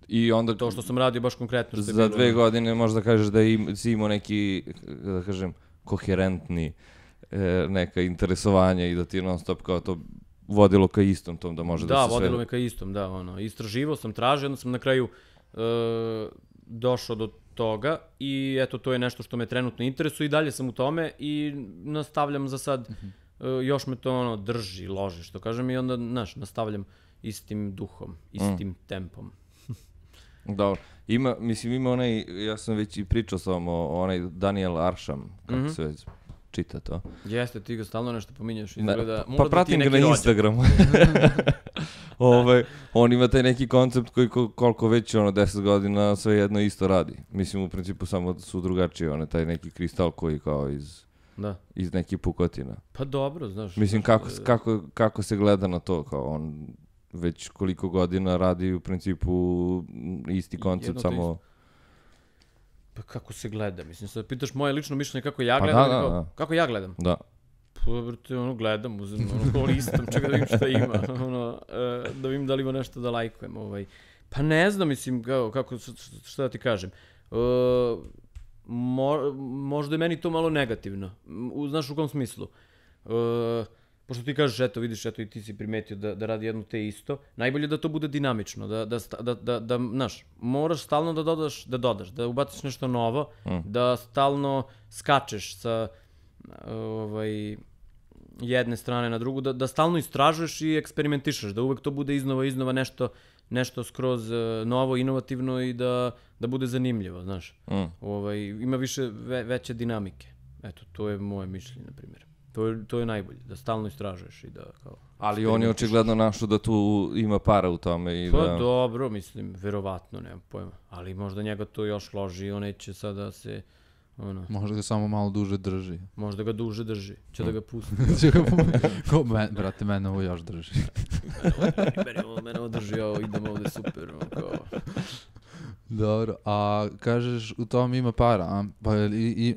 I onda... To što sam radio baš konkretno što je bilo... Za 2 godine možda kažeš da si imao neki, da kažem, koherentni neka interesovanja i da ti non stop kao to... Vodilo ka istom tom da može da se sve... Da, vodilo me ka istom, da, ono, istraživao sam, tražio, onda sam na kraju došao do toga i eto, to je nešto što me trenutno interesuje i dalje sam u tome i nastavljam za sad, još me to ono drži, loži, što kažem, i onda, znaš, nastavljam istim duhom, istim tempom. Dobro, ima onaj, ja sam već i pričao sa onaj Daniel Arsham, kako se već... čita to. Jeste, ti ga stalno nešto pominješ. Pa pratim ga na Instagramu. On ima taj neki koncept koji koliko već 10 godina sve jedno isto radi. Mislim, u principu samo su drugačiji, taj neki kristal koji kao iz nekih pukotina. Pa dobro, znaš. Mislim, kako se gleda na to, kao on već koliko godina radi u principu isti koncept, samo... Pa kako se gleda, mislim, sad pitaš moje lično mišljenje kako ja gledam, kako ja gledam? Da. Pa, brate, gledam, uzem, listam, čekaj da vidim šta ima, da vidim da li ima nešto da lajkujem, Pa ne znam, mislim, kako, šta da ti kažem, možda je meni to malo negativno, znaš u kom smislu? Pošto ti kažeš, eto, vidiš, eto, i ti si primetio da radi jedno te isto, najbolje da to bude dinamično, da znaš, moraš stalno da dodaš, da ubaciš nešto novo, da stalno skačeš sa jedne strane na drugu, da stalno istražuješ i eksperimentišeš, da uvek to bude iznova nešto skroz novo, inovativno i da bude zanimljivo, znaš. Ima veće dinamike. Eto, to je moje mišljenje, na primjer. To je najbolje, da stalno istražuješ i da kao... Ali on je očigledno našao da tu ima para u tome i da... Pa dobro, mislim, verovatno, nemam pojma. Ali možda njega to još loži i on neće sada se... Možda ga samo malo duže drži. Možda ga duže drži, će da ga pusti. Brate, mene ovo još drži. Mene ovo drži, idemo ovde super, kao... Dobro, a kažeš u tom ima para, a? Pa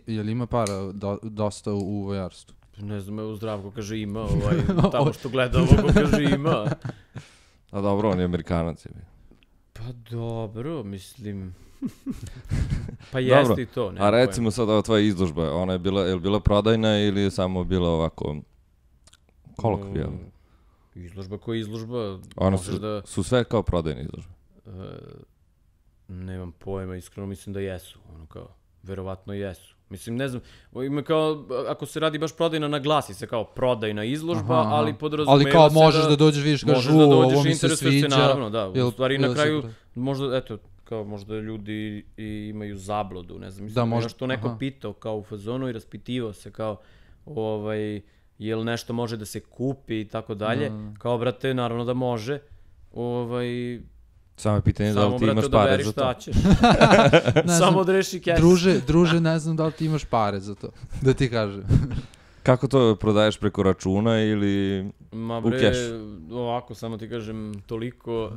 je li ima para dosta u vojarstvu? Ne znam, evo Zdravko kaže ima, tamo što gleda ovo kaže ima. A dobro, on je Amerikanac. Pa dobro, mislim... Pa jeste i to. A recimo sad ova tvoja izložba, ona je bila prodajna ili je samo bila ovako kolokvijalna? Izložba koja je izložba... One su sve kao prodajne izložbe? Nemam pojma, iskreno mislim da jesu. Ono kao, verovatno jesu. Mislim, ne znam, ima kao, ako se radi baš prodajna, naglasi se kao prodajna izložba, ali podrazumeva se da... Ali kao možeš da dođeš, vidiš, kažu, ovo mi se sviđa. Naravno, da. U stvari na kraju, možda, eto, kao možda ljudi imaju zabludu, ne znam, mislim, možda što neko pitao kao u fazonu i raspitivao se kao, jel nešto može da se kupi i tako dalje, kao, brate, naravno da može, Samo je pitanje da li ti imaš pare za to. Samo da reši keš. Druže, ne znam da li ti imaš pare za to, da ti kažem. Kako to prodaješ preko računa ili u kešu? Ovako, samo ti kažem, toliko...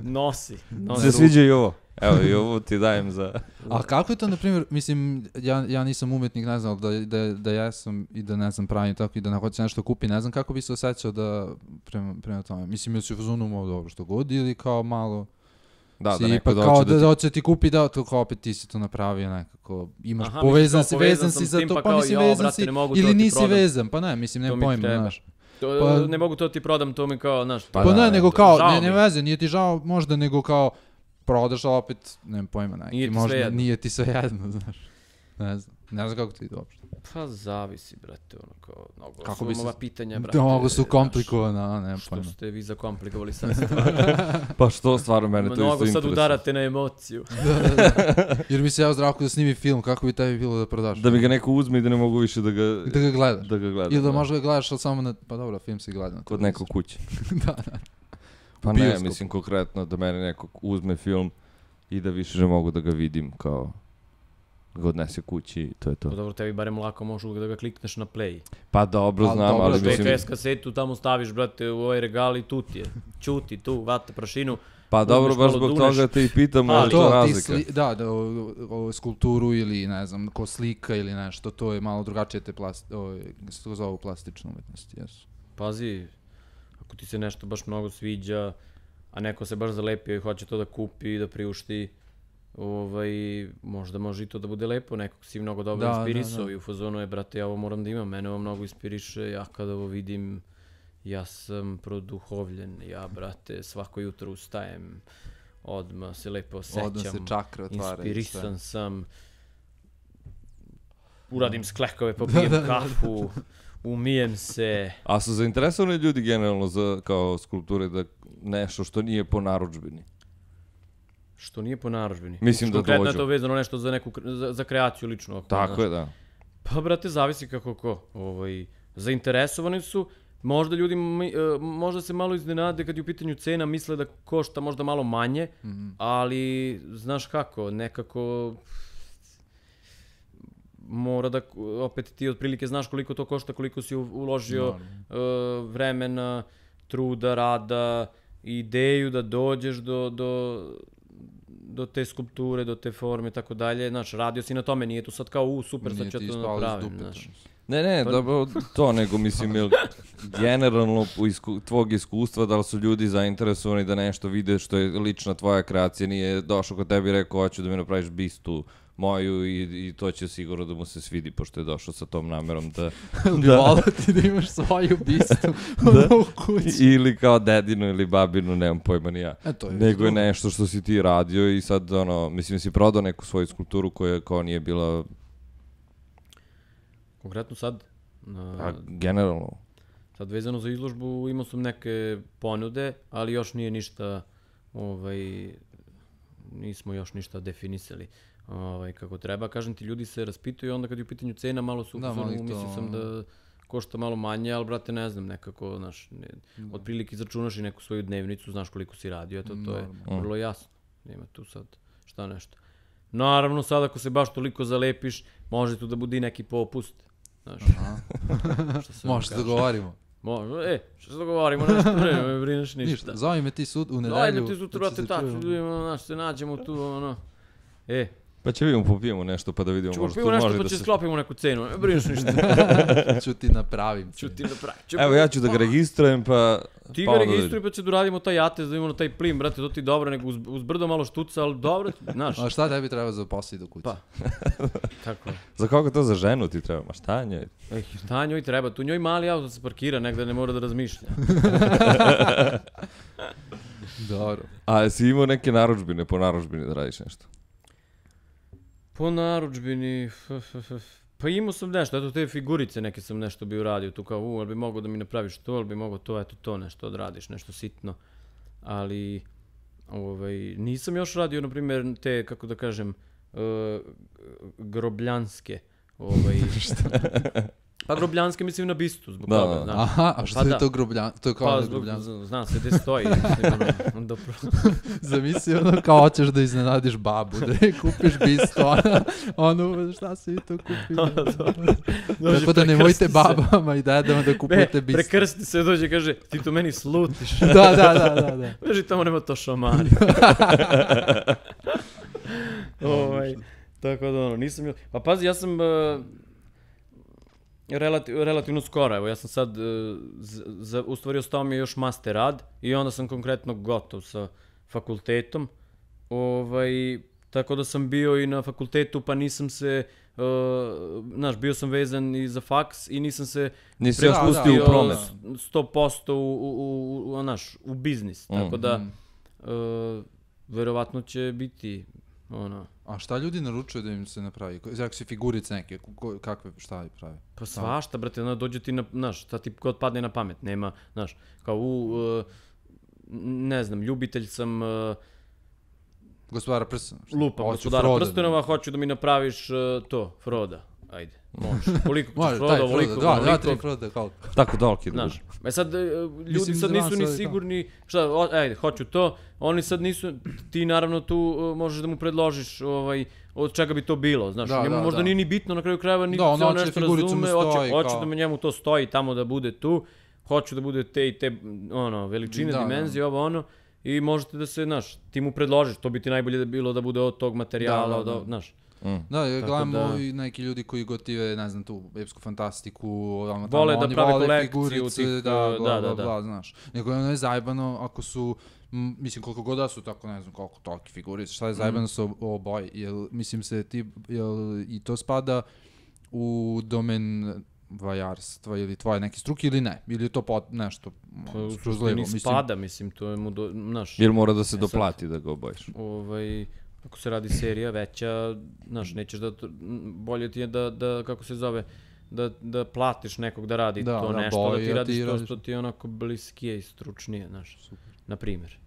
Nosi. Se sviđa i ovo. Evo, i ovo ti dajem za... A kako je to, na primjer, mislim, ja nisam umetnik, ne znam, da jesam i da ne znam pravim tako i da ne hoće nešto kupi, ne znam kako bi se osjećao da prema tome. Mislim, ili si u fazonu malo dobro što god ili kao malo... Da neko doće da hoće ti kupi, da to kao opet ti si to napravio nekako, imaš povezan si, vezan si za to, pa mislim vezan si ili nisi vezan, pa ne, mislim, nema pojma, znaš. Ne mogu to ti prodam, to mi kao, znaš. Pa ne, nego kao, ne veze, nije ti žao možda, nego kao, prodaš, ali opet, nema pojma, nije ti sve jedno, znaš. Ne znam kako ti ide uopšte. Pa zavisi, brate, ono kao, mnogo su ova pitanja, brate. Mnogo su komplikovana, nema pojma. Što ste vi zakomplikovali sad stvar? Pa što, stvarno, mene to isto interesuje. Mnogo sad udarate na emociju. Jer mi se Zdravko da snimi film, kako bi tebi bilo da prodaš? Da mi ga neko uzme i da ne mogu više da ga gledaš. Ili da možda ga gledaš, ali samo pa dobro, film si gleda. Kod nekog kuće. Da. Pa ne, mislim konkretno da mene neko uzme film i da više ne mogu da ga vidim kao... ga odnese kući, to je to. Pa dobro, tebi barem lako možeš da ga klikneš na play. Pa dobro, znam, ali mislim... VHS kasetu tamo staviš, brate, u ovaj regal i tu ti je. Čuti, tu, vate prašinu. Pa dobro, baš zbog toga te i pitam, ali to razlika. Da, skulpturu ili, ne znam, ko slika ili nešto, to je malo drugačije te se to zove plastične umetnosti, jesu. Pazi, ako ti se nešto baš mnogo sviđa, a neko se baš zalepio i hoće to da kupi, da priušti, možda može i to da bude lepo, nekog si mnogo dobro inspirisao i u fazonu je, brate, ja ovo moram da imam, mene ovo mnogo inspiriše, ja kada ovo vidim, ja sam produhovljen, ja, brate, svako jutro ustajem, odmah se lepo osjećam, odmah se čakra otvara, inspirisan sam, uradim sklekove, popijem kafu, umijem se. A su zainteresovani ljudi generalno za kao skulpture da nešto što nije po narudžbini? Što nije po narudžbini. Mislim da dođu. Konkretno je to vezano nešto za kreaciju lično. Tako je, da. Pa, brate, zavisi kako ko. Zainteresovani su, možda ljudi, možda se malo iznenade kad je u pitanju cena, misle da košta možda malo manje, ali, znaš kako, nekako mora da, opet ti otprilike znaš koliko to košta, koliko si uložio vremena, truda, rada, ideju da dođeš do te skulpture, do te forme i tako dalje. Znaš, radio si na tome, nije to sad kao super, sad ću ja to napravim. Ne, dobro to, nego mislim, generalno tvog iskustva, da li su ljudi zainteresovani da nešto vide što je lična tvoja kreacija, nije došao kod tebi i rekao, hoću da mi napraviš bistu moju i to će sigurno da mu se svidi, pošto je došao sa tom namerom da... Hvala ti da imaš svoju bistu u kući. Ili kao dedinu ili babinu, nemam pojma ni ja. Nego je nešto što si ti radio i sad, mislim, si prodao neku svoju skulpturu koja kao nije bila... Konkretno sad? Generalno. Sad vezano za izložbu imao sam neke ponude, ali još nije ništa, nismo još ništa definisali kako treba. Kažem ti, ljudi se raspituju, onda kad je u pitanju cena, malo su mislio sam da košta malo manje, ali brate ne znam, nekako, znaš, otprilike izračunaš i neku svoju dnevnicu, znaš koliko si radio, eto, to je vrlo jasno. Nema tu sad šta nešto. Naravno, sad ako se baš toliko zalepiš, može tu da bude i neki popust. Možeš da dogovorimo. Može, što se dogovorimo, nešto ne me brineš ništa. Zove me ti u nedelju. Zove me ti sutra, brate, tako, se nađemo tu, Pa će vidimo, popijemo nešto pa da vidimo. Ćemo popijemo nešto pa će sklopimo neku cenu, ne brineš ništa. Ću ti napravim. Evo ja ću da ga registrujem pa... Ti ga registruj pa će da uradimo taj atest, da imamo taj plin, brate, to ti dobro, nego uz brdo malo štuca, ali dobro, znaš. A šta tebi treba za posao do kuće? Pa, tako je. Za koga to za ženu ti treba? Ma šta njoj? Šta njoj treba? Tu njoj mali auto se parkira, negde ne mora da razmišlja. Dobro. A jesi imao neke narudžbine, po narudžbini da radiš nešto? Po narudžbini, pa imao sam nešto, eto te figurice neke sam nešto bio radio, tu kao, ali bi mogao da mi napraviš to, ali bi mogao to, eto to nešto odradiš, nešto sitno, ali nisam još radio, na primjer, te, kako da kažem, grobljanske, pa grobljanske mislim na bistu, zbog toga, znaš. Aha, a što je to grobljansko? To je kao grobljansko. Zna se gde stoji. Zamisli kao hoćeš da iznenadiš babu, da je kupiš bistu, šta si to kupio? Tako da nemojte babama i dedama da kupujete bistu. Prekrsti se, dođe i kaže, ti to meni slutiš. Da. Veži tamo nema to šamari. Tako da nisam... Pa pazi, ja sam... Relativno skoro, evo, ja sam sad, u stvari ostao mi je još master rad i onda sam konkretno gotov sa fakultetom, tako da sam bio i na fakultetu pa nisam se, znaš, bio sam vezan i za faks i nisam se prepustio 100% u biznis, tako da verovatno će biti A šta ljudi naručuju da im se napravi? Ako si figurice neke, šta pravi? Pa svašta, brate, dođe ti na, znaš, šta ti god padne na pamet, nema, znaš, kao ne znam, ljubitelj sam... Gospodara prstenova. Lupam, gospodara prstenova, hoću da mi napraviš to, Froda. Ajde, možeš. Koliko ćeš Froda, ovoliko, koliko. Tako dolki da znaš, sad, ljudi sad nisu ni sigurni, šta, ajde, hoću to, oni sad nisu, ti naravno tu možeš da mu predložiš od čega bi to bilo, znaš, njemu možda nije ni bitno na kraju krajeva, niti se on nešto razume, hoće da njemu to stoji tamo da bude tu, hoću da bude te i te, veličine, dimenzije, i možete da se, znaš, ti mu predložiš, to bi ti najbolje bilo da bude od tog materijala, znaš. Da, gledamo i neki ljudi koji gotive, ne znam, tu epsku fantastiku, vole da prave kolekciju figurice, bla, znaš. Nego je zajebano ako su, mislim, koliko god da su tako, ne znam, koliko toliki figurice, šta je zajebano sa oboji, mislim se ti, i to spada u domen vajarstva ili tvoje neke struke ili ne, ili je to nešto skroz levo, mislim. Spada, mislim, to je mu, znaš. Ili mora da se doplati da ga obojiš? Ako se radi serija veća, znaš, nećeš da, bolje ti je da kako se zove, da platiš nekog da radi to nešto, da ti radiš to što ti je onako bliskije i stručnije, znaš, na primjer.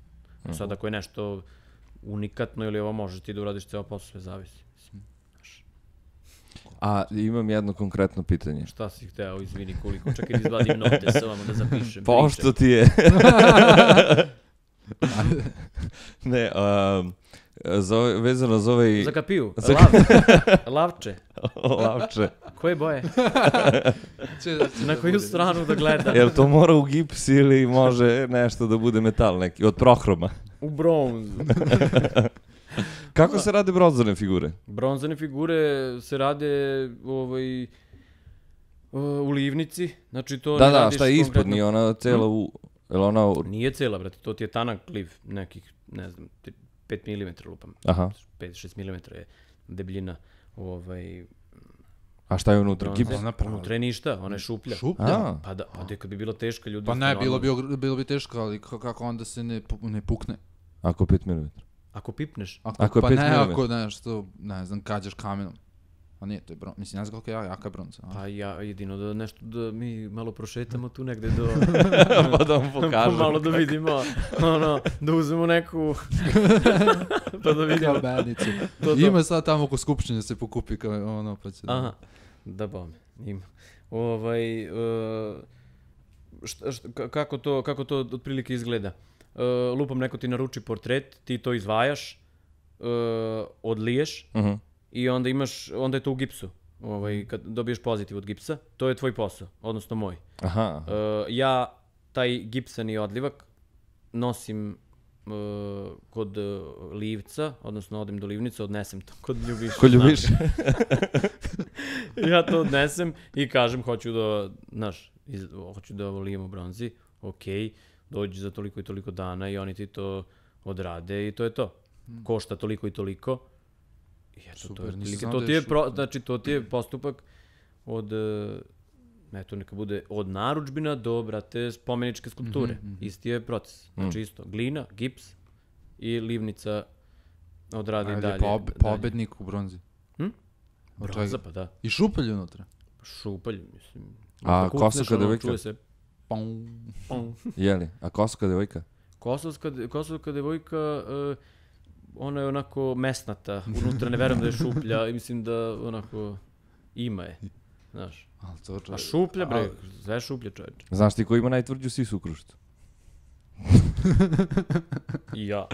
Sad ako je nešto unikatno ili ovo možeš ti da uradiš ceo posao, sve zavisi. A imam jedno konkretno pitanje. Šta si hteo, izvini koliko, čekaj da izvadim note sa vama da zapišem. Pošto ti je... Ne, vezano za ovaj... Za kapiju? Lavče? Lavče. Koje boje? Na koju stranu da gleda? Jel to mora u gips ili može nešto da bude metal neki, od prohroma? U bronz. Kako se rade bronzane figure? Bronzane figure se rade u livnici, znači to ne radiš konkretno... Da, šta je ispod, nije ona cela u... Nije cela, brate, to ti je tanak liv, nekih, ne znam, 5 mm lupam. Aha. 5-6 mm je debljina. A šta je unutra? Unutra je ništa, ona je šuplja. Šuplja? Pa da, kad bi bilo teško ljudi... Pa ne, bilo bi teško, ali kako onda se ne pukne? Ako 5 mm. Ako pipneš? Ako je 5 mm. Pa ne, ako nešto, ne znam, kađaš kamenom. A nije, to je bronza. Mislim, ne znam koliko je jaka bronza. Pa ja jedino da nešto, da mi malo prošetamo tu negde do... Pa da vam pokažem. Malo da vidimo, da uzmemo neku... pa da vidimo. Kabenicu. Ima sad tamo oko skupštine se pokupi kao pa će da... Aha, da bome, ima. Kako to otprilike izgleda? Lupam, neko ti naruči portret, ti to izvajaš, odliješ, i onda je to u gipsu, kad dobiješ pozitiv od gipsa, to je tvoj posao, odnosno moj. Aha. Ja taj gipsani odlivak nosim kod Livca, odnosno odem do Livnice, odnesem to kod Ljubiša. Kod Ljubiša. Ja to odnesem i kažem, hoću da volijemo bronzi, okej, dođi za toliko i toliko dana i oni ti to odrade i to je to. Košta toliko i toliko. I eto, to ti je postupak od, eto, neka bude od narudžbina do, brate, spomeničke skulpture. Isti je proces. Znači isto, glina, gips i livnica odradi dalje. Pobednik u bronzi. Bronza, pa da. I šupalj unutra. Šupalj, mislim. A Kosovska devojka? Jeli? A Kosovska devojka? Kosovska devojka, ona je onako mesnata. Unutra ne verujem da je šuplja i mislim da onako ima je. Znaš. A šuplja, bre, sve šuplja, čoveče. Znaš ti ko ima najtvrđu sisu u Kruševcu? I ja.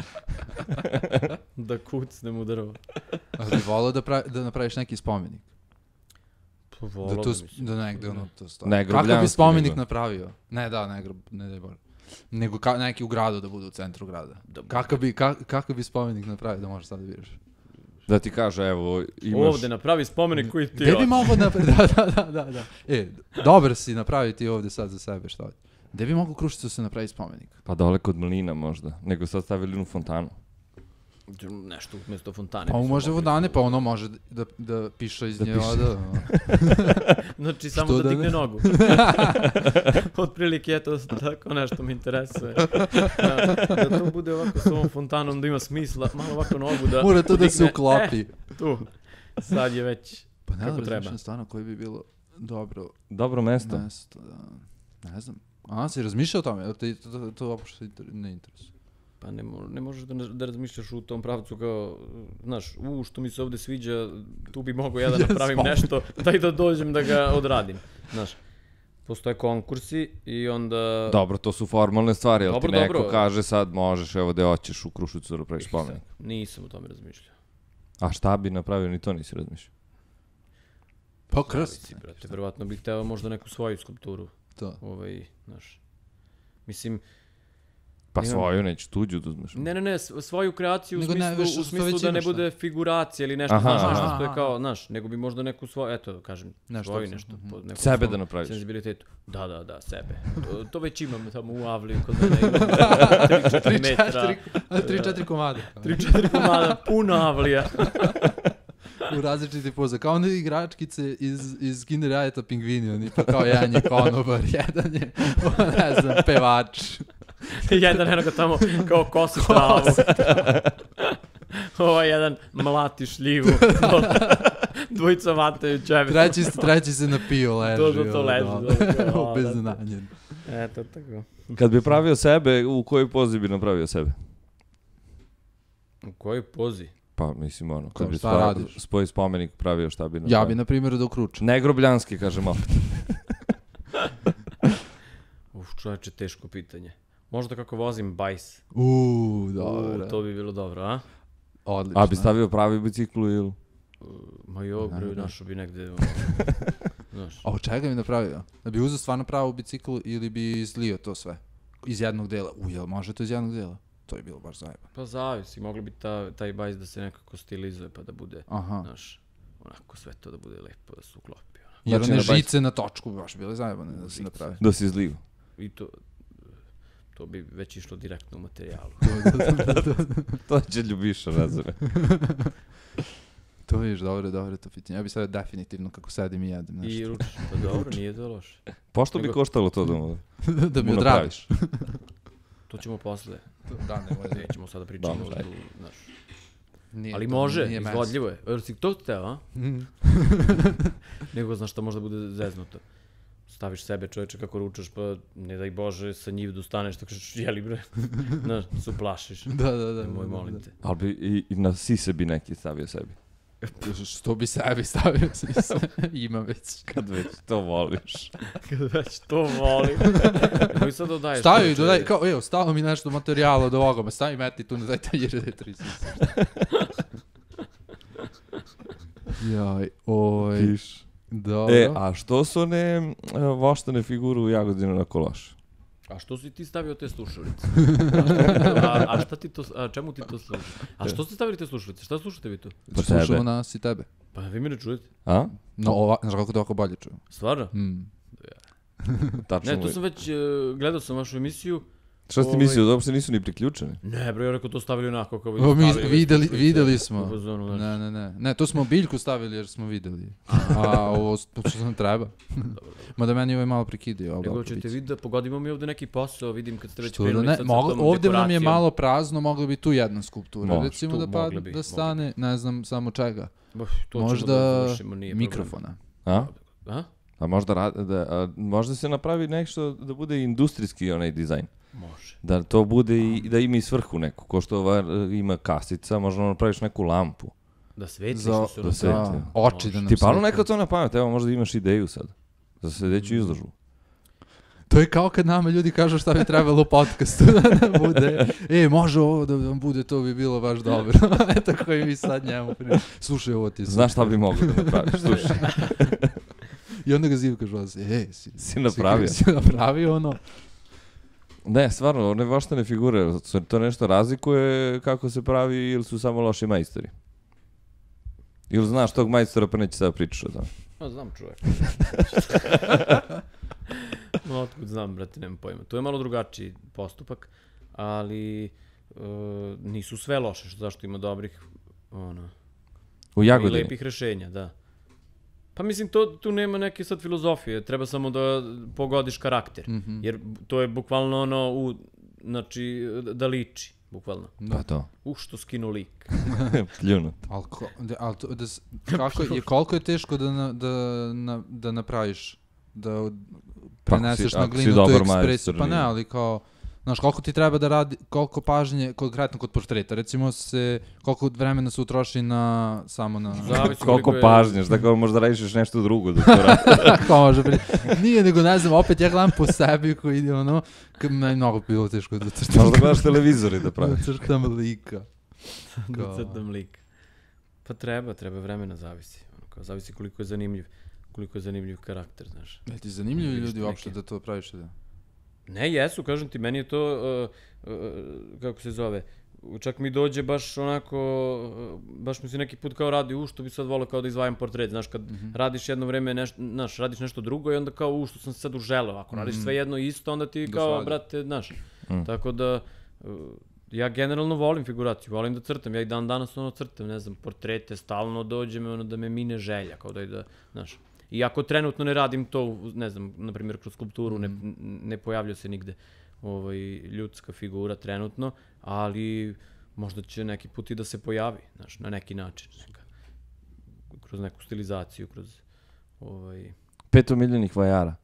Da kucnem u drvo. A bi volao da napraviš neki spomenik? Pa volao bi, mislim. Da negde ono to stoji. Ne, grobljanski. Kakav bi spomenik napravio? Ne, da, ne daj Bože. Nego neki u gradu da bude u centru grada. Kakav bi spomenik napravio da možeš sad da vidiš? Da ti kaže, evo, imaš... Ovde napravi spomenik koji ti... Gde bi mogo napraviti? Da. Dobar si napraviti ovde sad za sebe, šta ovdje? Gde bi mogo u Kruševcu se napraviti spomenik? Pa dole kod Mlina možda, nego sad stavili jednu fontanu. Nešto umjesto fontane. Pa može vodane, pa ono može da piše iz nje voda. Znači samo da digne nogu. Otprilike, eto, tako nešto mi interesuje. Da to bude ovako s ovom fontanom, da ima smisla, malo ovako nogu da... Mora to da se uklopi. Tu. Sad je već pa ne kako treba. Pa ne stvarno koji bi bilo dobro... Dobro mesto. Da. Ne znam. A, si razmišljao o tome? To uopšte ne interesuje. Pa ne možeš da razmišljaš u tom pravcu kao, znaš, što mi se ovde sviđa, tu bi mogo ja da napravim nešto, daj da dođem da ga odradim, znaš. Postoje konkursi i onda... Dobro, to su formalne stvari, ali ti neko kaže sad možeš, evo da hoćeš u Kruševcu da napraviš spomenik. Nisam o tome razmišljao. A šta bi napravio, ni to nisi razmišljao? Pa krst. Brate, verovatno bih hteo možda neku svoju skulpturu. To. Znaš, mislim... Pa svoju, neću tuđu da uzmeš. Ne, svoju kreaciju u smislu da ne bude figuracija ili nešto, znaš, što je kao, znaš, nego bi možda neku svoju, eto, kažem, svoju nešto. Sebe da napraviš. Senzibilitetu. Da, sebe. To već imam tamo u Avliju, kod mene imam 3-4 metra. 3-4 komada. 3-4 komada, puno Avlija. U različiti poza. Kao one igračkice iz Kinder Jajeta Pingvini, oni pa kao jedan je konobar, jedan je, ne znam, pevač. Jedan enoga tamo kao kosi travu. Jedan mlati šljivu. Dvojica vataju čebe. Treći se napio, leži. To leži. Obeznanjen. Eto, tako. Kad bi pravio sebe, u kojoj pozi bi napravio sebe? U kojoj pozi? Pa, mislim, ono, kad bi spoj spomenik pravio, šta bi napravio? Ja bi, na primjer, da ukručam. Negrobljanski, kažem opet. Čovječe, teško pitanje. Možda kako vozim bajs. Dobro. To bi bilo dobro, a? Odlično. A bi stavio pravi biciklu ili? Ma našo bi negde... A od čega bi napravio? Da bi uzeo stvarno pravu biciklu ili bi izlio to sve? Iz jednog dela? Jel može to iz jednog dela? To je bilo baš zajebano. Pa zavisi, mogli bi taj bajs da se nekako stilizuje pa da bude, znaš, onako sve to da bude lepo, da se uklopi. Jer one žice na točku bi baš bile zajebane da se napravi. Da se izliju. I to bi već išlo direktno u materijalu. To će Ljubiša razumije. To vidiš, dobro to pitanje. Ja bi sada definitivno kako sedim i jedem nešto. I ručiš, pa dobro, nije to loše. Pošto bi koštalo to da mi odradiš? To ćemo posle. Da, nećemo sada pričati. Ali može, izvodljivo je. Jer si to hteo, a? Nego znaš što možda bude zeznuto. Staviš sebe, čovječe, kako ručaš, pa ne daj Bože, sa njivdu staneš, tako kažeš, jeli bre, znaš, se uplašiš. Da. Moj, molim te. Ali bi i na sise bi neki stavio sebi. Što bi sebi stavio sise? Ima već. Kad već to voliš. Nemoj sad dodaješ. Stavi, dodaj, kao, evo, stalo mi nešto materijala od ovoga, ma stavi meti tu, ne daj tanjire, da 3 sise. Jaj, Piš. Dobro. A što su one voštane figure u Jagodinu na kološu? A što si ti stavio te slušalice? Čemu ti to služi? A što ste stavili te slušalice? Šta slušate vi tu? Slušamo nas i tebe. Pa vi me ne čujete. A? No, znaš kako to ovako bolje čujem. Stvarno? Tačno ne, tu sam već, gledao sam vašu emisiju. Šta si ti mislio, da uopšte nisu ni priključeni? Ne, bro, ja rekao to stavili onako kao videli smo. Ne, to smo biljku stavili jer smo videli. A ovo što nam treba. Mada meni ovo je malo prekidio. Nego ćete vidjeti da pogodimo mi ovde neki posao, vidim kad ste već krenuli sa tom dekoracijom. Ovde nam je malo prazno, mogla bi tu jedna skulptura. Recimo da stane, ne znam samo čega. Možda mikrofona. A? A možda se napravi nešto da bude industrijski onaj dizajn. Može. Da to bude i da ima i svrhu neku, ko što ova ima kasica, možda napraviš neku lampu. Da sveti što se da sveti. Oči da nam ti palo neka to na pamet, evo možda imaš ideju sad. Za sledeću izložbu. To je kao kad nama ljudi kažu šta bi trebalo u podcastu da bude. Može ovo da vam bude, to bi bilo baš dobro. Eto koji mi sad njemu slušaj ovo ti. Znaš šta bi mogli da napraviš, slušaj. I onda ga Zivka žvazi, si napravio. Si napravio ono. Ne, stvarno, one voštane figure, to nešto razlikuje kako se pravi ili su samo loši majstori? Ili znaš tog majstora pa neće sada pričaš o tome? No, znam čovjek. Otkud znam, brate, nemam pojma. To je malo drugačiji postupak, ali nisu sve loše, zašto ima dobrih, u Jagodini? I lepih rešenja, da. Pa mislim, tu nema neke sad filozofije, treba samo da pogodiš karakter, jer to je bukvalno znači, da liči, bukvalno. Da, to. Što skinu lik. Pljunut. Koliko je teško da napraviš, da preneseš na glinu tu ekspresiju, pa ne, ali kao, znaš, koliko ti treba da radi, koliko pažnje, konkretno kod portreta, recimo koliko vremena se utroši samo na... Koliko pažnješ, da možda radiš nešto drugo da to radi. Kao može biti. Nije, nego ne znam, opet ja gledam po sebi koji ide meni mnogo bilo teško da crtam. Možda gledaš televizori da praviš. Da crtam lika. Da crtam lika. Pa treba vremena, zavisi koliko je zanimljiv karakter, znaš. Je ti zanimljivi ljudi uopšte da to praviš? Ne, jesu, kažem ti, meni je to, kako se zove, čak mi dođe baš onako, baš mi se neki put kao radi, što bi sad volao kao da izvajam portret, znaš, kad radiš jedno vreme, radiš nešto drugo i onda kao, što sam se sad uželeo, ako radiš sve jedno isto, onda ti kao, brate, znaš, tako da, ja generalno volim figuraciju, volim da crtam, ja i dan danas crtam, ne znam, portrete, stalno dođe me da me mine želja, kao da, znaš. Iako trenutno ne radim to, ne znam, na primjer kroz skulpturu, ne pojavlja se nigde ljudska figura trenutno, ali možda će neki put i da se pojavi, znaš, na neki način, kroz neku stilizaciju, kroz 5 omiljenih vajara.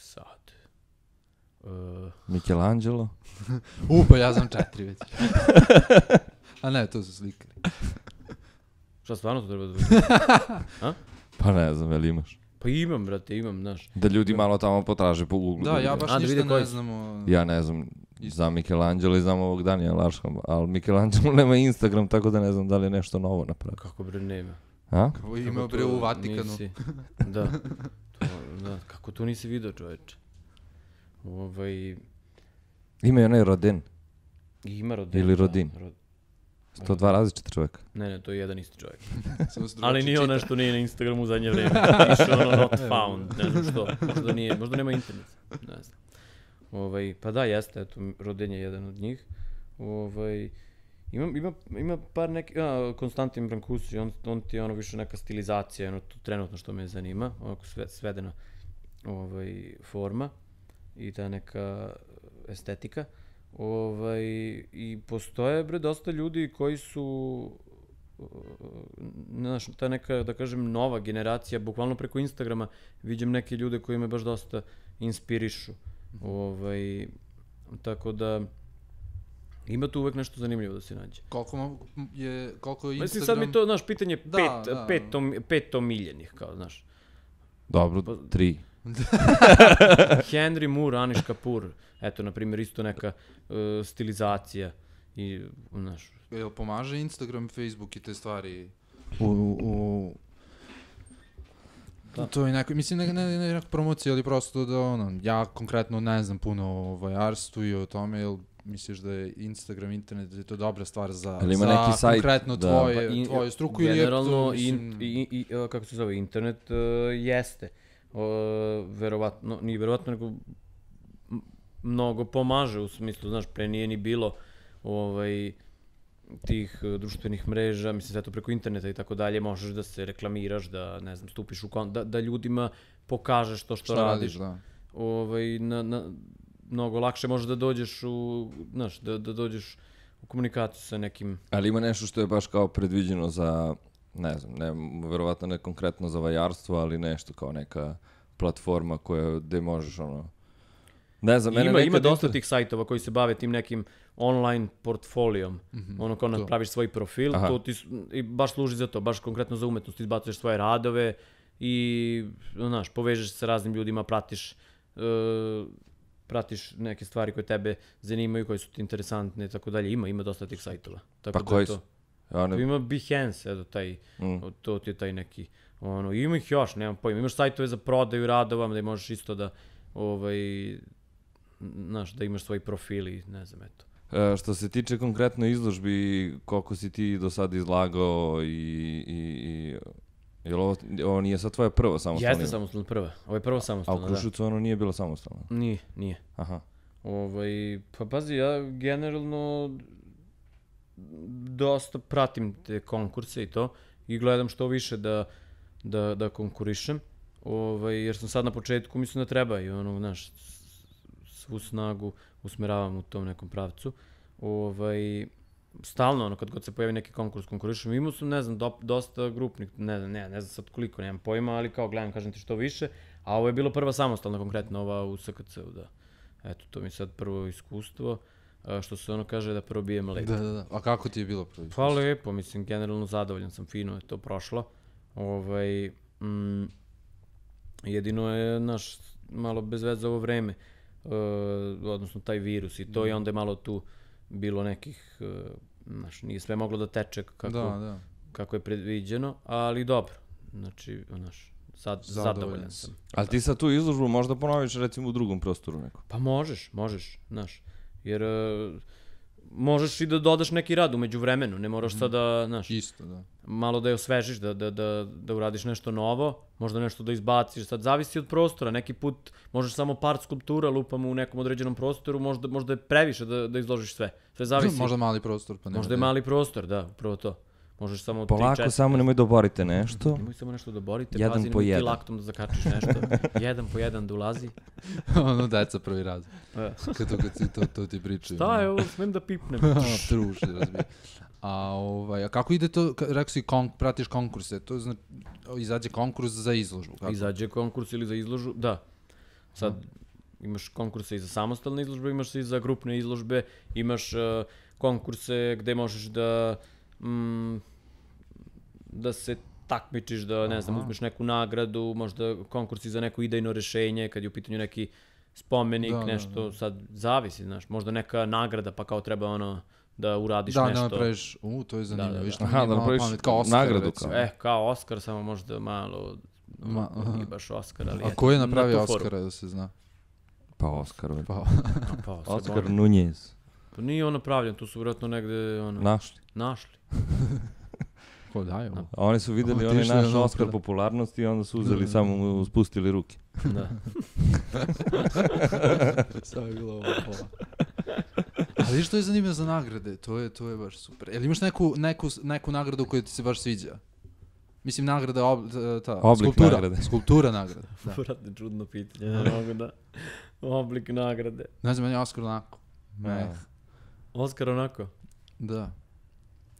Sad. Michelangelo. Pa ja znam 4 već. A ne, to su slikari. Šta stvarno to treba da bude? A? Pa ne znam, jel imaš? Pa imam, brate, znaš. Da ljudi malo tamo potraže po Google. Da, ja baš ništa ne znam. Ja ne znam, znam Michelangelo i znam ovog Daniela Arsham, ali Michelangelo nema Instagram, tako da ne znam da li je nešto novo napravio. Kako bre nema? A? Kako ima bre u Vatikanu. Da. Kako to nisi vidio, čoveče? Ima i onaj Rodin. Ima Rodin. Ili Rodin. 102 različita čovjeka. Ne, to je jedan isti čovjek. Ali nije nešto nije na Instagramu u zadnje vreme. Piše not found, ne znam što. Možda nema internet, ne znam. Pa da, jeste, eto, Rodin je jedan od njih. Ima par neki, Konstantin Brancusi, on ti je više neka stilizacija, to trenutno što me zanima, onako svedena forma i ta neka estetika. I postoje, bre, dosta ljudi koji su, znaš, ta neka, da kažem, nova generacija, bukvalno preko Instagrama vidim neke ljude koji me baš dosta inspirišu. Tako da, ima tu uvek nešto zanimljivo da se nađe. Koliko je Instagram... Mislim, sad mi to, znaš, pitanje 5 omiljenih, kao, znaš. Dobro, 3. Henry Moore, Anish Kapoor, eto, na primjer, isto neka stilizacija i, znaš... Jel pomaže Instagram, Facebook i te stvari to je neko, mislim, ne neka promocija, ali prosto da, ja konkretno ne znam puno o vajarstvu i o tome, jel misliš da je Instagram, internet, da je to dobra stvar za konkretno tvoju struku ili je to, mislim... kako se zove, internet jeste. Verovatno, nije verovatno, nego mnogo pomaže u smislu, znaš, pre nije ni bilo tih društvenih mreža, mislim, sve to preko interneta i tako dalje, možeš da se reklamiraš, da, ne znam, stupiš u da ljudima pokažeš to što radiš. Da. Mnogo lakše možeš da dođeš znaš, da dođeš u komunikaciju sa nekim... Ali ima nešto što je baš kao predviđeno za, ne znam, verovatno ne konkretno za vajarstvo, ali nešto kao neka platforma gde možeš ne znam, ima dosta tih sajtova koji se bave tim nekim online portfolijom. Kao napraviš svoj profil, to ti i baš služi za to, baš konkretno za umetnost, izbacuješ svoje radove i, znaš, povežeš se sa raznim ljudima, pratiš neke stvari koje tebe zanimaju, koje su ti interesantne i tako dalje. Ima dosta tih sajtova. Pa koji su? Ima Behance, eto, to ti je taj neki, ima ih još, nemam pojma. Imaš sajtove za prodaju radova, da možeš isto da, znaš, da imaš svoj profil i ne znam, eto. Što se tiče konkretno izložbi, koliko si ti do sada izlagao i jel ovo nije sad tvoja prva samostalna? Jeste samostalna prva. Ovo je prva samostalna, da. A u Kruševcu ono nije bilo samostalno? Nije. Aha. Pa pazi, ja generalno dosta pratim te konkurse i to i gledam što više da konkurišem, jer sam sad na početku, mislim da treba i znaš, svu snagu usmeravam u tom nekom pravcu. Stalno, kad god se pojavi neki konkurs, konkurišem. Imao sam, ne znam, dosta grupnih, ne znam sad koliko, nemam pojma, ali kao gledam, kažem ti što više. A ovo je bilo prva samostalna, konkretno ova u SKC-u, da. Eto, to mi je sad prvo iskustvo, što se kaže da probijem led. Da. A kako ti je bilo prvo iskustvo? Pa lepo, mislim, generalno zadovoljan sam, fino je to prošlo. Jedino je, naš, malo bez veze ovo vreme, odnosno taj virus i to, i onda je malo tu bilo nekih, znaš, nije sve moglo da teče kako je predviđeno, ali dobro, znači, znaš, sad zadovoljan sam. Ali ti sad tu izložbu možda ponoviš recimo u drugom prostoru nekom? Pa možeš, znaš, jer možeš i da dodaš neki rad umeđu vremenu, ne moraš sad da, znaš, malo da je osvežiš, da uradiš nešto novo, možda nešto da izbaciš, sad zavisi od prostora, neki put možeš samo par skulptura lupamo u nekom određenom prostoru, možda je previše da izložiš sve zavisi. Možda mali prostor, pa nema. Možda je mali prostor, da, upravo to. Možeš samo 3-4. Polako, samo nemoj da oborite nešto. Nemoj samo nešto da oborite, pazi, nemoj ti laktom da zakačiš nešto. Jedan po jedan da ulazi. Deca prvi raz. Kad to ti pričaju. Šta je ovo, smem da pipnem. Truši, razbije. A kako ide to, rekao si, pratiš konkurse, to znači, izađe konkurs za izložbu? Kako? Izađe konkurs ili za izložbu, da. Sad imaš konkurse i za samostalne izložbe, imaš i za grupne izložbe, imaš konkurse gde možeš da se takmičiš, da, ne znam, uzmeš neku nagradu, možda konkursi za neko idejno rešenje, kad je u pitanju neki spomenik, nešto, sad zavisi, znaš, možda neka nagrada, pa kao treba da uradiš nešto. Da napraviš, to je zanimljivo. Da napraviš nagradu. Kao Oskar, samo možda malo, nije baš Oskar, ali... A ko je napravio Oskara, da se zna? Pa Oskar. Oskar Nunez. Pa nije on napravljen, tu su vjerojatno negde... Našli. Ko daje? A oni su videli onaj naš Oskar popularnosti i onda su uzeli samo, spustili ruke. Da. Samo je bilo ovo pola. Ali što je zanimljivo za nagrade? To je baš super. Jel imaš neku nagradu koju ti se baš sviđa? Mislim, nagrada, skulptura nagrada. Vratno čudno pitanje, oblik nagrade. Ne znam, meni je Oskar onako. Oskar onako? Da.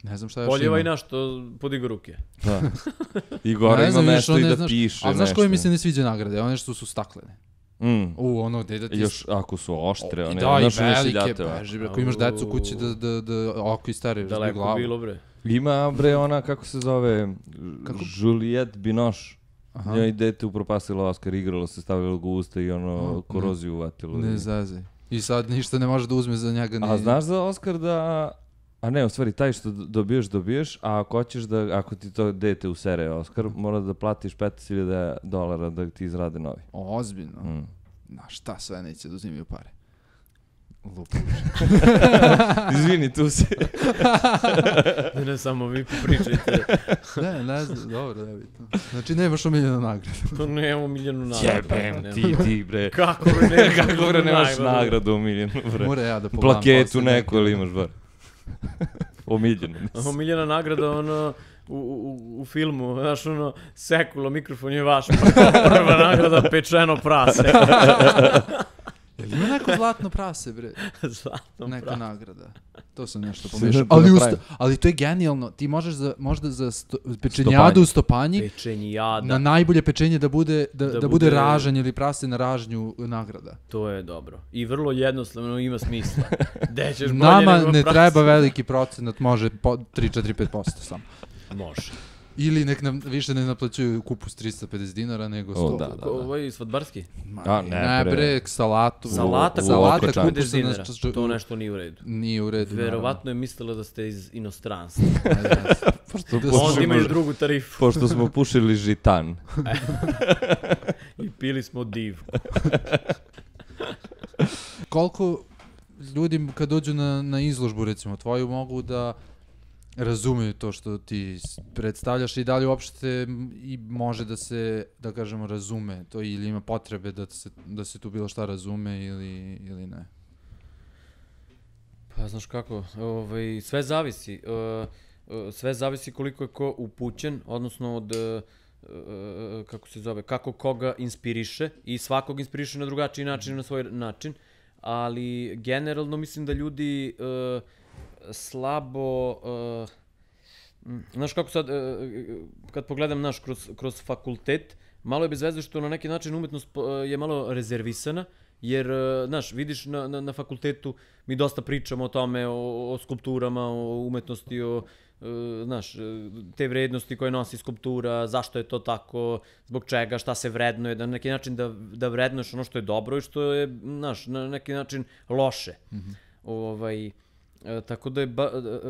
Ne znam šta još ima. Poljeva i našto podigo ruke. Da. I gore ima mesto i da piše nešto. Ali znaš koje mi se ne sviđa nagrade? One što su staklene. Gde da ti... Još ako su oštre, one... Da, i velike, beži, ako imaš decu kući da oko istari glavu. Daleko bilo, bre. Ima, bre, ona, kako se zove, Juliette Binoche. Njoj dete upropastilo Oskar, igralo se, stavilo ga u usta i koroziju uvatilo. Ne zazaj. I sad ništa ne može da uzme za njega. A znaš za Oskar da... A ne, u stvari, taj što dobiješ, a ako hoćeš da, ako ti to dete usere Oskar, mora da platiš $15,000 da ti izrade novi. Ozbiljno? Na šta sve neće da uzimaju pare? Lupuš. Izvini, tu si. Ne, samo vi pričajte. Ne znam, dobro, da bitno. Znači nemaš omiljenu nagradu. To nemam omiljenu nagradu. Jebem ti bre. Kako bre nemaš nagradu omiljenu bre. Mora ja da pogledam. Plaketu neku ili imaš bar. Omiljenu. Omiljena nagrada, ono, u filmu, znaš, ono, sekulo, mikrofon je vaš, prva nagrada, pečeno prase. Jel ima neko zlatno prase, bre? Zlatno neka prase. nagrada. To sam nešto pomešao. Ali to je genijalno. Ti možeš možda za pečenjadu u Stopanji Pečenjada. na najbolje pečenje da bude ražanj ili prase na ražnju nagrada. To je dobro. I vrlo jednostavno ima smisla. Ćeš Nama ne treba veliki procenat, može 3-4-5% samo. Može. Ili nek nam više ne naplaćuju kupus $350 nego 100. Da. Ovo svadbarski? Ne bre, salata kupus dinara. To nešto nije u redu. Nije u redu. Verovatno je mislila da ste iz inostranstva. Onda imaju drugu tarifu. Pošto smo pušili žitan. I pili smo div. Koliko ljudi kad dođu na izložbu, recimo tvoju, mogu da razumeju to što ti predstavljaš i da li uopšte i može da se, da kažemo, razume to ili ima potrebe da se tu bilo šta razume ili ne? Pa znaš kako, sve zavisi. Sve zavisi koliko je ko upućen, odnosno od, kako se zove, kako koga inspiriše i svakog inspiriše na drugačiji način, na svoj način, ali generalno mislim da ljudi slabo, znaš kako sad, kad pogledam kroz fakultet, malo je bez veze što na neki način umetnost je malo rezervisana, jer, znaš, vidiš na fakultetu mi dosta pričamo o tome, o skulpturama, o umetnosti, znaš, te vrednosti koje nosi skulptura, zašto je to tako, zbog čega, šta se vrednuje, da na neki način da vrednuješ ono što je dobro i što je, znaš, na neki način loše. Tako da je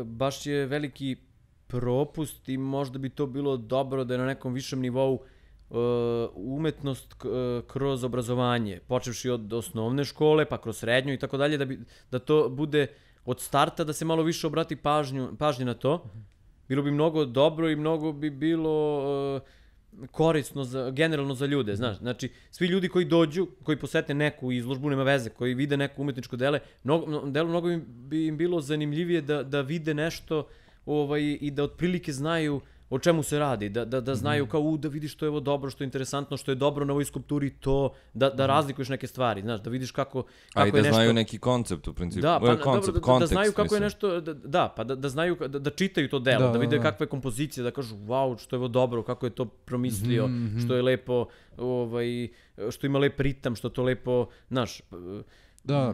baš je veliki propust i možda bi to bilo dobro da je na nekom višem nivou umetnost kroz obrazovanje, počevši od osnovne škole, pa kroz srednju i tako dalje, da to bude od starta, da se malo više obrati pažnje na to. Bilo bi mnogo dobro i mnogo bi bilo korisno generalno za ljude, znaš. Znači, svi ljudi koji dođu, koji posete neku izložbu, nema veze, koji vide neko umetničko delo, mnogo bi im bilo zanimljivije da vide nešto i da otprilike znaju o čemu se radi, da znaju kao da vidiš što je ovo dobro, što je interesantno, što je dobro na ovoj skulpturi, to, da razlikuješ neke stvari, znaš, da vidiš kako je nešto... A i da znaju neki koncept u principu. Da, pa da znaju kako je nešto, da znaju, da čitaju to delo, da vide kakva je kompozicija, da kažu, wow, što je ovo dobro, kako je to promislio, što je lepo, što ima lep ritam, što to lepo, znaš... Da,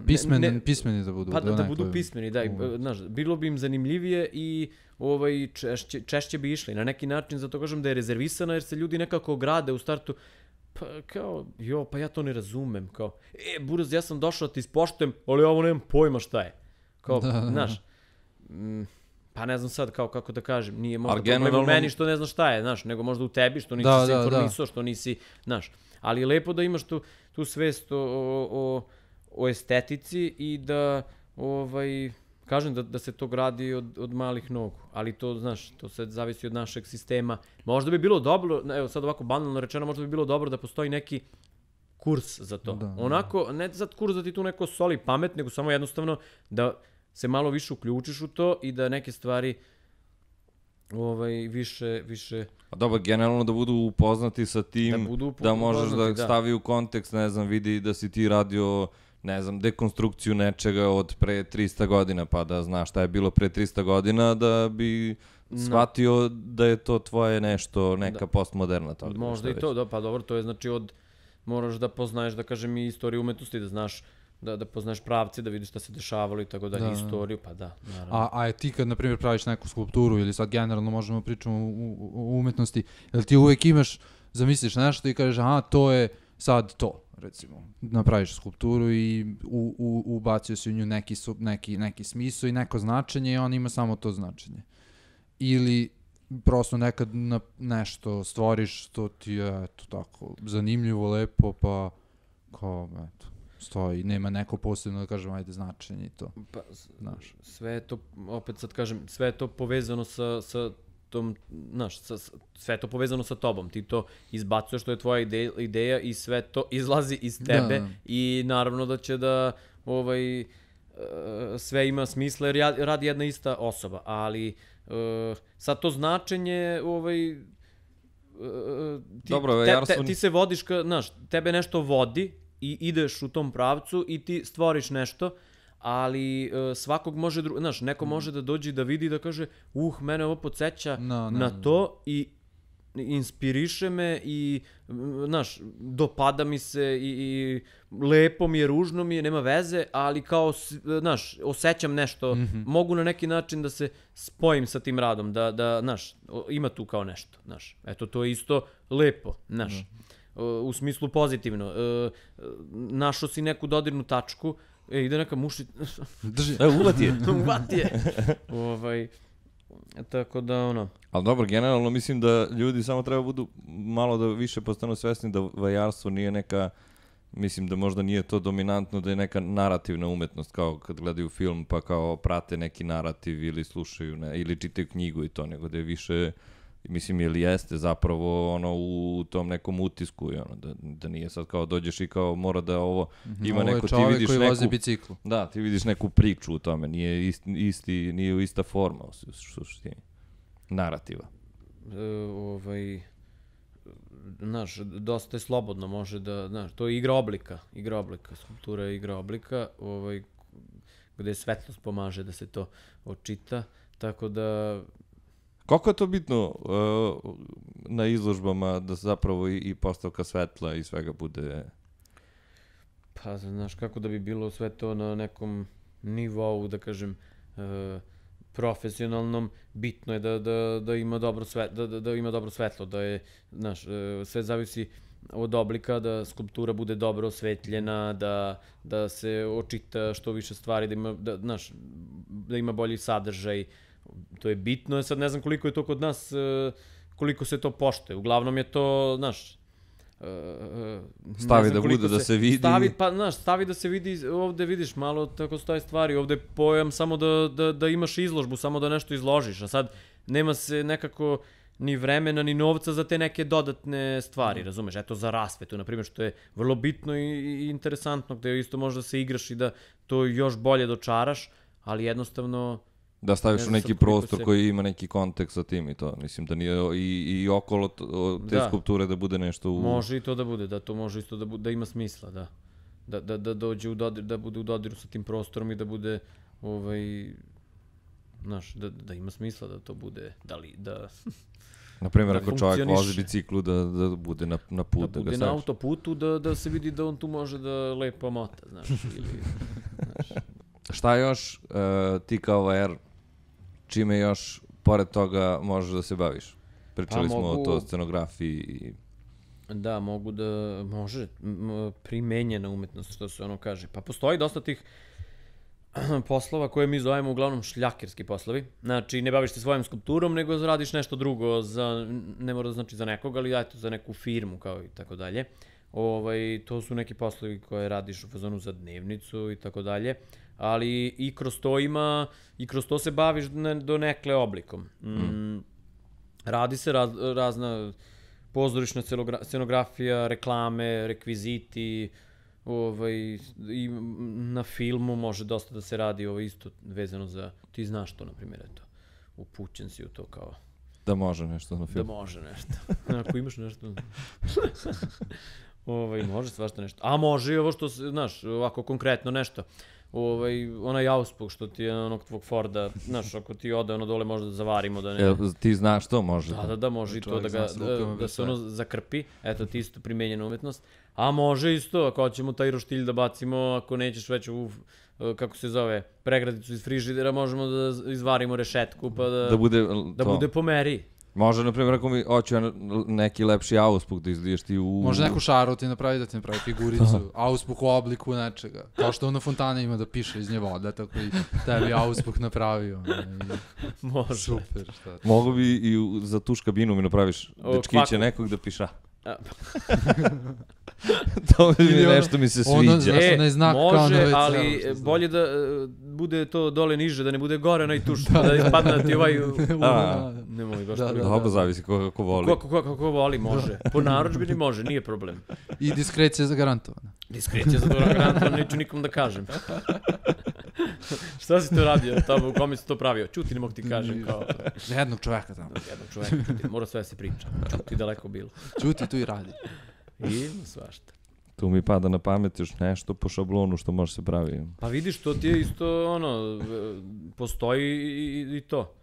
pismeni da budu. Pa da budu pismeni, da, znaš, bilo bi im zanimljivije i češće bi išli. Na neki način, zato kažem da je rezervisana, jer se ljudi nekako grade u startu, pa kao, pa ja to ne razumem, kao, Buraz, ja sam došao da ti ispoštujem, ali ovo nemam pojma šta je. Kao, znaš, pa ne znam sad kako da kažem, nije možda problem u meni što ne znaš šta je, znaš, nego možda u tebi što nisi se informisao, što nisi, znaš, ali je lepo da imaš tu svest o estetici i da, kažem da se to gradi od malih nogu, ali to, znaš, to sve zavisi od našeg sistema. Možda bi bilo dobro, evo sad ovako banalno rečeno, možda bi bilo dobro da postoji neki kurs za to. Onako, ne sad kurs da ti tu neko soli pamet, nego samo jednostavno da se malo više uključiš u to i da neke stvari više... A dobro, generalno da budu upoznati sa tim, da možeš da stavi u kontekst, ne znam, vidi da si ti radio, ne znam, dekonstrukciju nečega od pre 300 godina, pa da znaš šta je bilo pre 300 godina, da bi shvatio da je to tvoje nešto, neka postmoderna. Možda i to, pa dobro, to je znači moraš da poznaješ, da kažem, i istoriju umetnosti, da znaš, da poznaješ pravce, da vidiš šta se dešavalo i tako dalje, istoriju, pa da, naravno. A ti kad, na primjer, praviš neku skulpturu ili sad generalno možemo pričamo o umetnosti, jel ti uvek imaš, zamisliš nešto i kažeš, aha, to je sad to, recimo. Napraviš skulpturu i ubacio si u nju neki smisao i neko značenje i on ima samo to značenje. Ili prosto nekad nešto stvoriš što ti je tako zanimljivo, lepo, pa kao, eto, stoji, nema neko posebno da kažem, ajde, značenje i to. Pa, sve je to, opet sad kažem, sve je to povezano sa tom, znaš, sve je to povezano sa tobom. Ti to izbacuješ, to je tvoja ideja i sve to izlazi iz tebe i naravno da će da sve ima smisla jer radi jedna ista osoba, ali sad to značenje ti se vodiš, znaš, tebe nešto vodi i ideš u tom pravcu i ti stvoriš nešto, ali svakog može, znaš, neko može da dođe da vidi da kaže, mene ovo podsjeća na to i inspiriše me i, znaš, dopada mi se i lepo mi je, ružno mi je, nema veze, ali kao, znaš, osjećam nešto, mogu na neki način da se spojim sa tim radom, da, znaš, ima tu kao nešto, znaš, eto, to je isto lepo, znaš, u smislu pozitivno, našao si neku dodirnu tačku, ide neka muši... Drži, uvati je. Uvati je. Tako da, ono... Ali dobro, generalno mislim da ljudi samo treba budu malo da više postanu svesni da vajarstvo nije neka... Mislim da možda nije to dominantno, da je neka narativna umetnost, kao kad gledaju film pa kao prate neki narativ ili slušaju, ili čitaju knjigu i to, nego da je više... Mislim, ili jeste zapravo ono u tom nekom utisku, ono, da nije sad kao dođeš i kao mora da ovo ima neko, ti vidiš koji vozi biciklu. Da, ti vidiš neku priču u tome, nije ista forma u suštini, narativa. Znaš, dosta je slobodno, može da, znaš, to je igra oblika, skulptura je igra oblika, gde svetlost pomaže da se to očita, tako da... Koliko je to bitno na izložbama da zapravo i postavka svetla i svega bude... Pa, znaš, kako da bi bilo sve to na nekom nivou, da kažem, profesionalnom, bitno je da ima dobro svetlo, da je, znaš, sve zavisi od oblika, da skulptura bude dobro osvetljena, da se očita što više stvari, da ima bolji sadržaj. To je bitno, sad ne znam koliko je to kod nas, koliko se to poštuje. Uglavnom je to, znaš... Stavi da bude, da se vidi. Stavi da se vidi, ovde vidiš malo tako stoje stvari, ovde je pojam samo da imaš izložbu, samo da nešto izložiš, a sad nema se nekako ni vremena, ni novca za te neke dodatne stvari, razumeš? Eto, za rasvetu, na primjer, što je vrlo bitno i interesantno, gde isto možda se igraš i da to još bolje dočaraš, ali jednostavno... Da staviš u neki prostor koji ima neki kontekst sa tim i to. Mislim da nije i okolo te skulpture da bude nešto u... Može i to da bude, da to može isto da ima smisla, da. Da dođe u dodir, da bude u dodiru sa tim prostorom i da bude, znaš, da ima smisla da to bude, da... Naprimjer, ako čovjek vozi biciklu, da bude na put, da bude na autoputu, da se vidi da on tu može da lepo mota, znaš, ili... Šta još ti kao VR, čime još pored toga možeš da se baviš? Pričali smo o to scenografiji. Da, može primenjena umetnost, što se ono kaže. Pa postoji dosta tih poslova koje mi zovemo uglavnom šljakerski poslovi. Znači, ne baviš se svojom skulpturom, nego radiš nešto drugo, ne mora da znači za nekog, ali eto, za neku firmu kao i tako dalje. To su neki poslovi koje radiš u fazonu za dnevnicu i tako dalje. Ali i kroz to se baviš do nekle oblikom. Radi se razna pozorišna scenografija, reklame, rekviziti, i na filmu može dosta da se radi isto vezano za, ti znaš to, na primjer, eto, upućen si u to kao... Da može nešto na filmu. Da može nešto. Ako imaš nešto... Može svašta nešto. A može i ovo što, znaš, ovako konkretno nešto. Onaj auspuk što ti je onog tvog Forda, znaš, ako ti ode ono dole možda da zavarimo da ne... Ti znaš to može? Da, može i to da se ono zakrpi, eto ti isto primenjena umetnost. A može isto, ako hoćemo taj roštilj da bacimo, ako nećeš već u, kako se zove, pregradicu iz frižidera, možemo da izvarimo rešetku pa da bude po meri. Može, na primjer, ako mi hoću neki lepši auspuh da izliješ ti u... Može neku šaru ti napravi da ti napravi figuricu, auspuh u obliku nečega. Kao što na fontane ima da piše iz nje voda, tako i tebi auspuh napravio. Može. Super, šta. Mogu bi i za tuš kabinu mi napraviš dečkiće nekog da piša. To mi nešto mi se sviđa. Može, ali bolje da bude to dole niže, da ne bude gore onaj tuš, da ispadne ti ovaj... Nemoj baš to. Dobro, zavisi kako voli. Kako voli, može. Po narudžbini može, nije problem. I diskrecija zagarantovana. Diskrecija zagarantovana, neću nikom da kažem. Šta si to radio tamo, u kome si to pravio? Čuti, ne mogu ti kažem kao... Jednog čoveka tamo. Jednog čoveka, čuti, mora sve se priča. Čuti daleko bilo. Čuti tu i radi. I svašta. Tu mi pada na pamet još nešto po šablonu što može se pravi. Pa vidiš, to ti je isto, postoji i to.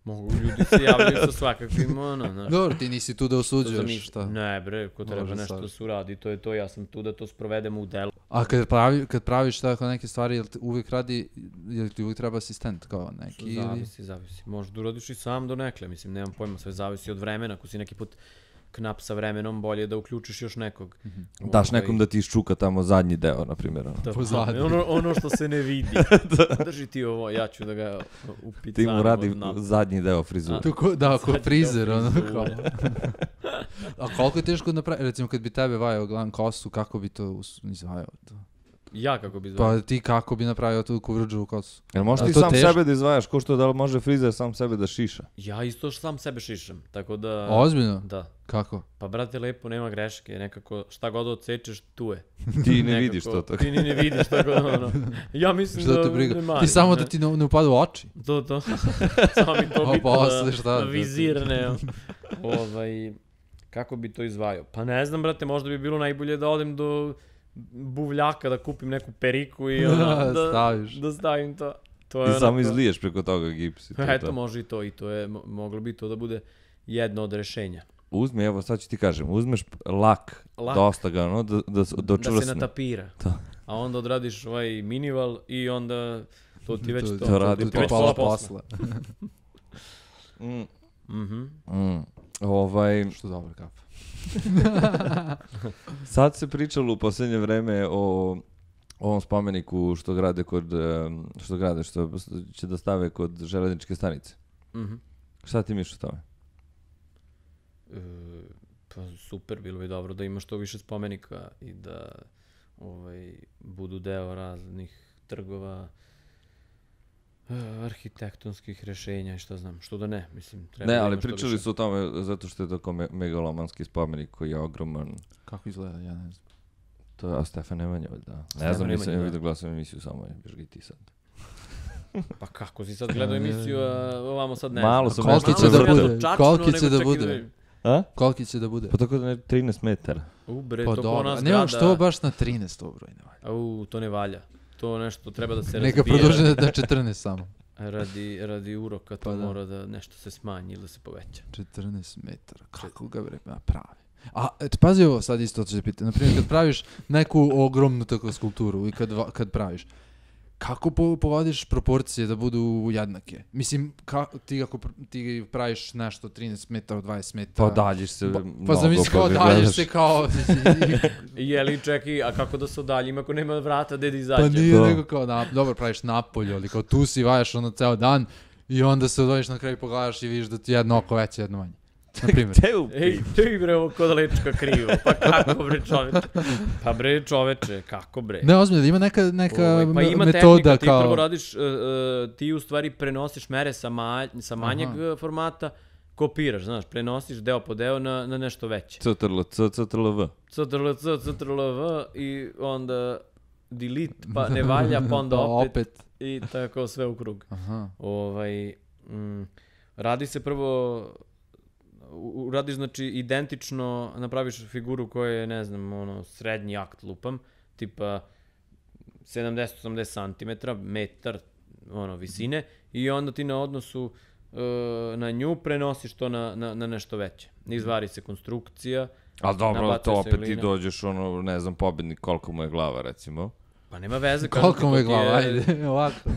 Mogu ljudi se javljaju sa svakakvim, znaš. Dobro, ti nisi tu da osuđuješ, šta? Ne bre, ko treba nešto da se uradi, to je to, ja sam tu da to sprovedemo u delu. A kad praviš tako neke stvari, jel ti uvijek treba asistent kao neki? Zavisi. Možda da uradiš i sam do nekle, mislim, nemam pojma, sve zavisi od vremena, ako si neki put knap sa vremenom, bolje da uključiš još nekog. Daš nekom da ti iščuka tamo zadnji deo, na primjer. Ono što se ne vidi. Drži ti ovo, ja ću da ga upicam. Ti mu radi zadnji deo frizura. Da, ko frizer, kao. A koliko je teško napraviti? Recimo, kad bi tebe vajao glavnu kosu, kako bi to izvajao to? Ja kako bi izvajao? Pa ti kako bi napravio tu kuvrđu kosu? Jel možeš ti sam sebe da izvajaš, ko što da li može frizer sam sebe da šiša? Ja isto sam sebe šišam, tako da... Ozbiljno? Da. Kako? Pa brate, lepo, nema greške, nekako šta god odsečeš, tu je. Ti ne vidiš to tako. Ti ne vidiš tako, Ja mislim da ne marim. Ti samo da ti ne upadu u oči. To. Samo mi to bitno na vizir, ne. Kako bi to izvajao? Pa ne znam, brate, možda bi bilo najbolje da odem do buvljaka, da kupim neku periku i da stavim to. I samo izliješ preko toga gips. Eto, može i to. I to je, moglo bi to da bude jedno od rešenja. Uzmi, evo sad ću ti kažem, uzmeš lak. Dosta ga, da čvrsne. Da se natapira. A onda odradiš ovaj minival i onda to ti već to. To radi pola posla. Što dobro kafa. Sad se pričalo u posljednje vreme o ovom spomeniku što će da stave kod železničke stanice. Šta ti misliš o tome? Pa super, bilo bi dobro da ima što više spomenika i da budu deo raznih trgova, arhitektonskih rešenja i šta znam, što da ne, mislim, treba ne, da ali ima što pričali više. su o tome zato što je tako megalomanski spomenik koji je ogroman. Kako izgleda, ja ne znam. To je Stefan Nemanja, da. Ne znam, nisam vidio glasam emisiju, samo je bježgi ti sad. Pa kako si sad gledao emisiju, a ovamo sad ne malo znam. Malo sam nešto vrtao. Koliki će da bude? Pa tako da ne 13 metara. Bre, to ko nas grada. Nemam što baš na 13 to broj ne valja. To ne valja. To nešto treba da se razbije. Neka produži na 14 samo. Radi uroka to mora da nešto se smanji ili da se poveća. 14 metara, kako ga pravi. A pazi ovo sad isto ću se pitati. Naprimjer, kad praviš neku ogromnu tako skulpturu i kad praviš, kako povodiš proporcije da budu jednake? Mislim, ti praviš nešto 13 metara, 20 metara. Pa daljiš se mnogo. Pa zamisli kao daljiš se kao... Jeli, čekaj, a kako da se odaljim ako nema vrata gde da izađe? Pa nije nego kao, dobro praviš napolje, ali kao tu si vajaš ceo dan i onda se odvojiš na kraju pogledaš i vidiš da ti jedno oko veće, jedno manje. Ej, bre, ovo kod lečka krivo. Pa kako, bre, čoveče? Pa, bre, čoveče, kako, bre? Ne, ozbiljno, ima neka metoda pa ima tehnika, ti prvo radiš, ti u stvari prenosiš mere sa manjeg formata, kopiraš, znaš, prenosiš deo po deo na nešto veće. CTRL-V. CTRL-V i onda delete, pa ne valja, pa onda opet. I tako sve u krug. Radi se prvo... Uradiš, znači, identično, napraviš figuru koja je, ne znam, srednji akt lupam, tipa 70-80 cm, metar, visine, i onda ti na odnosu na nju prenosiš to na nešto veće. Izvari se konstrukcija. Ali dobro, to opet ti dođeš, ne znam, pobednik, koliko mu je glava, recimo. Pa nema veze. Koliko mu je glava, ajde, ovako.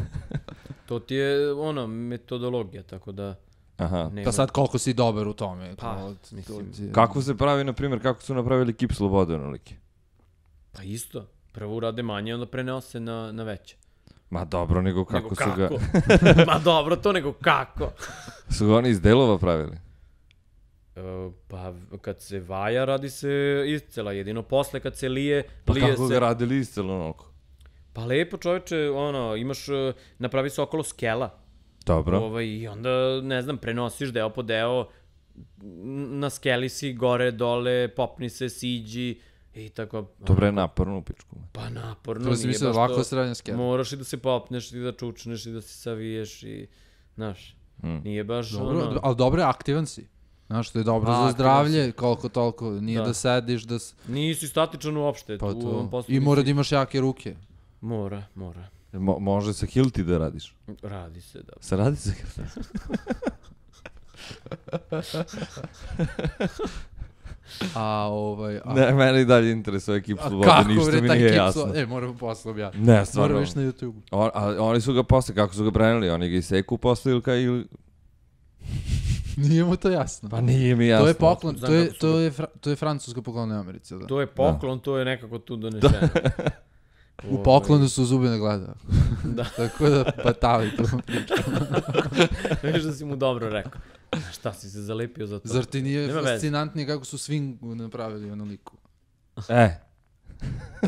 To ti je, metodologija, tako da... Aha. Pa sad koliko si dobar u tome. Pa, mislim. Kako se pravi, na primjer, kako su napravili kip slobode onolike? Pa isto. Prvo urade manje, onda prenose na veće. Ma dobro, nego kako su ga... Ma dobro, to nego kako. Su ga oni iz delova pravili? Pa kad se vaja, radi se iscela. Jedino posle kad se lije... Pa kako ga radili iscela onoliko? Pa lepo čovječe, imaš, napravi se okolo skela. Dobro. I onda, ne znam, prenosiš deo po deo, na skeli si, gore, dole, popni se, siđi i tako. Dobro je naporno u pičku. Pa naporno, to nije baš ovako srednja skela. Moraš i da se popneš, i da čučneš, i da se saviješ, i, znaš, nije baš dobro, ali dobro je, aktivan si. Znaš, to je dobro za zdravlje, koliko toliko, nije da sediš, da... Nisi statičan uopšte. Pa to. I mora da imaš jake ruke. Mora. Može sa hilti da radiš? Radi se, da. Se radi sa hilti? Ne, mene i dalje interesuje ekip slobode, ništa mi nije jasno. Moramo posle objaviti. Ne, stvarno. Moramo više na YouTube. Oni su ga posle, kako su ga preneli, oni ga iseku posle ili... Nije mu to jasno. Pa nije mi jasno. To je poklon, to je francuska poklon u Americi. Da? To je poklon, to je nekako tu donešeno. U poklonu su zube ne gleda. Da. Tako da patavi tu. Viš da si mu dobro rekao. Šta si se zalepio za to? Zar ti nije fascinantnije kako su swingu napravili liku?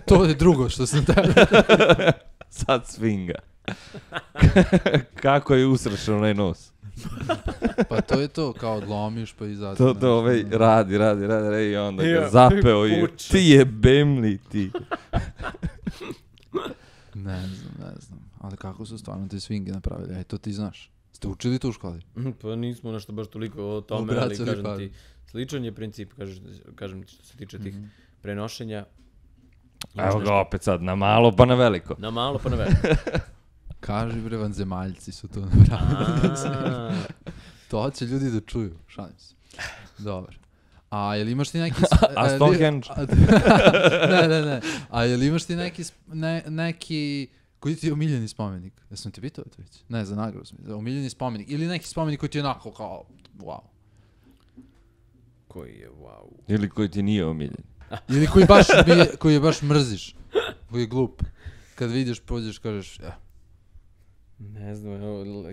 To je drugo što sam tebe. Sad swinga. Kako je usrešao onaj nos? Pa to je to, kao odlomiš pa izađe. To radi i onda ga zapeo i ti je bemli ti. Ne znam. Ali kako su stvarno te swinge napravili? To ti znaš. Ste učili to u školi? Pa nismo nešto baš toliko o tome, ali kažem ti, sličan je princip, kažem ti što se tiče tih prenošenja. Evo ga opet sad, na malo pa na veliko. Na malo pa na veliko. Kaži bre, vanzemaljci su to napravili. To će ljudi da čuju, šalim se. Dobro. A jel imaš ti neki... A Stonehenge? Ne. A jel imaš ti neki... Koji ti je omiljeni spomenik? Jesam ti pitao to već? Ne, za nagradu sam. Omiljeni spomenik. Ili neki spomenik koji ti je onako kao... Wow. Koji je wow. Ili koji ti nije omiljen. Ili koji baš mrziš. Koji je glup. Kad vidiš, pođeš, kažeš... Ne znam,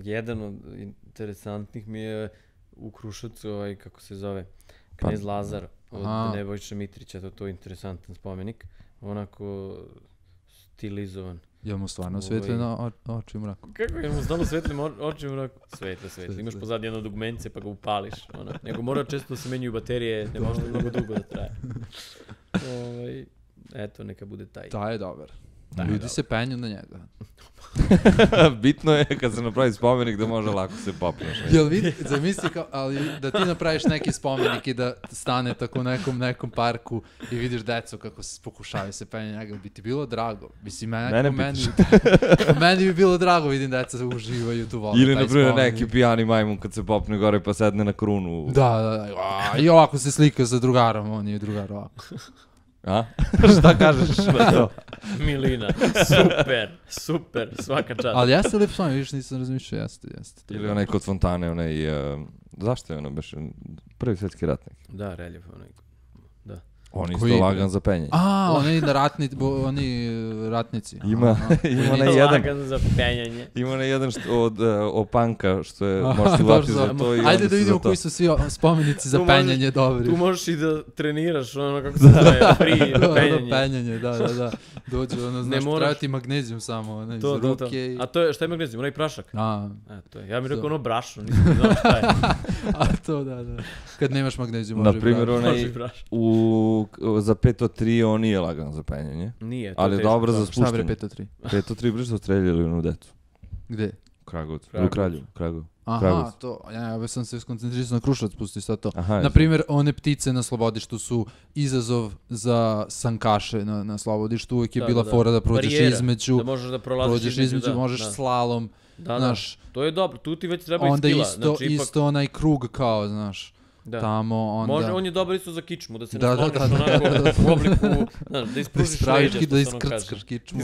jedan od interesantnih mi je u Kruševcu, kako se zove, Knez Lazar od Nebojše Mitrića, to je interesantan spomenik, onako stilizovan. Je mu stvarno svetle na oči u mraku? Kako je mu stvarno svetle oči u mraku? Svetle. Imaš pozadnje jedno dugmence pa ga upališ. Nego mora često da se menjuju baterije, ne može mnogo dugo da traje. Eto, neka bude taj. Taj je dobar. Ljudi se penju na njega. Bitno je kad se napravi spomenik da može lako se popneš. Jel vidi, zamisli ali da ti napraviš neki spomenik i da stane tako u nekom parku i vidiš decu kako se pokušavaju se penju na njega, bi ti bilo drago. Mislim, meni bi bilo drago, vidim deca uživaju tu volu. Ili, na primjer, neki pijani majmun kad se popne gore pa sedne na krunu. Da. I ovako se slika sa drugarom, on je drugar ovako. A? Šta kažeš na to? Milina, super, svaka čast. Ali jeste li psom, vidiš, nisam razmišljao, jeste. Ili onaj kod fontane, zašto je ono baš prvi svjetski ratnik? Da, reljev, da. On isto lagan za penjanje. Oni ratnici. Ima na jedan... Lagan za penjanje. Ima na jedan od opanka, što je, možeš uvati za to i ajde da vidimo koji su svi spomenici za penjanje dobri. Tu možeš i da treniraš, kako se zove, penjanje. Penjanje, da. Dođe, znaš, trebati magnezijum samo, iz ruke. A to je, šta je magnezijum? Onaj prašak? Ja mi rekao ono brašno, nisam znao šta je. A to, da. Kad nemaš magnezijum, može brašno. Naprimjer, za 503 on nije lagan za penjanje. Nije, ali je dobro za spuštanje. Šta bre 503? 503 bre su streljali onu decu. Gde? U Kraljevu. Aha, to. Ja sam se skoncentrisao na Kruševac, pusti sad to. Naprimjer, one ptice na slobodištu su izazov za sankaše na slobodištu. Uvijek je bila fora da prođeš između. Da možeš da prolaziš između. Možeš slalom. Da. To je dobro, tu ti već treba i stila. Onda isto onaj krug kao, znaš. tamo, onda... Može, on je dobar isto za kičmu, da se nasloniš onako u obliku, znaš, da ispružiš leđa, da iskrckaš kičmu.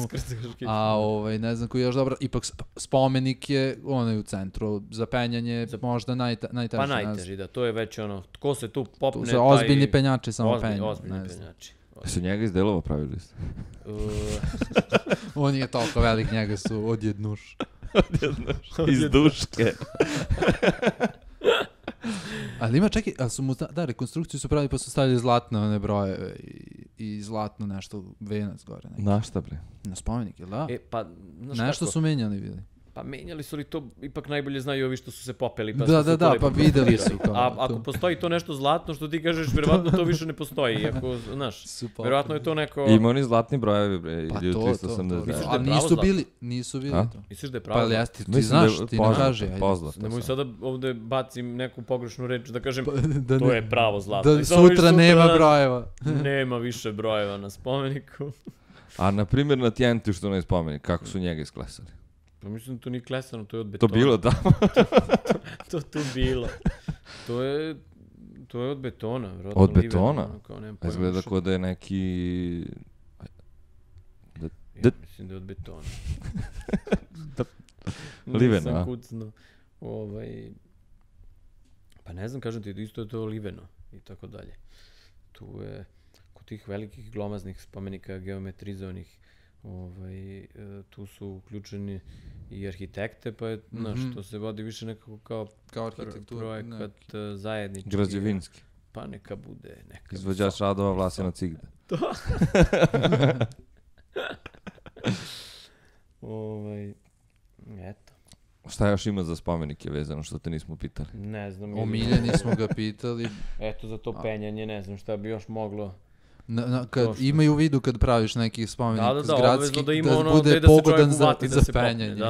A ne znam koji je još dobro, ipak spomenik je onaj u centru, za penjanje možda najteži. Pa najteži, da, to je već ono, tko se tu popne, to su ozbiljni penjači, samo penju. Ozbiljni penjači. Su njega iz delova pravili? On je toliko velik, njega su odjednuš. Iz duške. Ali ima, čekaj, ali su mu, rekonstrukciju su pravili pa su stavili zlatne one brojeve i zlatno nešto, venac gore. Na šta bre? Na spomenik, jel da? Pa, nešto su menjali, bili. Pa menjali su li to, ipak najbolje znaju ovi što su se popeli. Pa da, pa videli su. A ako postoji to nešto zlatno što ti kažeš, verovatno to više ne postoji. Ako, znaš, verovatno je to neko... Ima oni zlatni brojevi, bre, pa ili 380. Ali nisu bili to. Misliš da je pravo zlatno? Pa ti znaš, ti ne kaže. Nemoj sada ovde bacim neku pogrešnu reč da kažem, to je pravo zlatno. Da sutra nema brojeva. Nema više brojeva na spomeniku. A na primjer na Tjentu što ne spomenik, kako su njega isklesali? Pa mislim da to nije klesano, to je od betona. To bilo tamo? To tu bilo. To je od betona. Od betona? Izgleda kao da je neki... Ja mislim da je od betona. Liveno, a? Nisam kucno. Pa ne znam, kažem ti, isto je to liveno i tako dalje. Tu je, kod tih velikih glomaznih spomenika geometrizovanih, tu su uključeni i arhitekte, pa je, znaš, to se vodi više nekako kao projekat zajednički. Građevinski. Pa neka bude neka... Izvođač radova Vlasina Cigda. To. Eto. Šta još ima za spomenike vezano što te nismo pitali? Ne znam. O Miljani smo ga pitali. Eto, za to penjanje, ne znam šta bi još moglo... Kad imaju u vidu kad praviš neki spomenik gradski, da ima ono bude da pogodan za penjanje.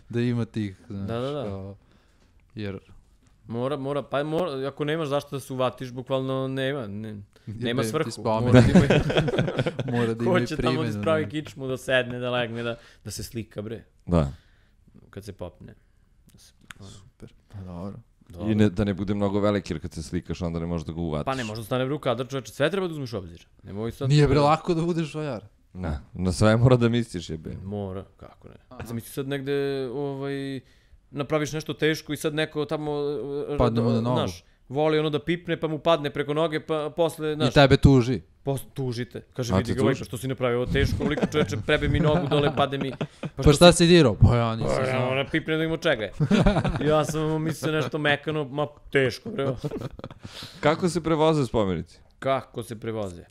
Da ima tih, znaš, jer... Mora, ako nemaš zašto da se uvatiš, bukvalno nema svrhu. Mora da ima i Ko će tamo da spravi kičmu, da sedne, da legne, da se slika, bre. Da. Kad se popne. Super, pa dobro. I da ne bude mnogo veliki, jer kad se slikaš, onda ne možeš da ga uvatiš. Pa ne, možda stane u kadar, čoveče, sve treba da uzmeš u obzir. Nije bre lako da budeš vajar. Na sve mora da misliš, jebe. Mora, kako ne. Zamisli sad negde, napraviš nešto teško i sad neko tamo... Padne mu na nogu. Znaš, voli ono da pipne, pa mu padne preko noge, pa posle, znaš... I tebe tuži. Tužite. Kaže, vidi ga, što si napravio ovo teško, uliko čoveče, prebe mi nogu dole, pade mi... Pa šta si dirao? Pa ja nisam znao. Ona pipne da ima čega je. Ja sam mislio nešto mekano, ma teško, bre. Kako se prevoze spomenici? Kako se prevoze?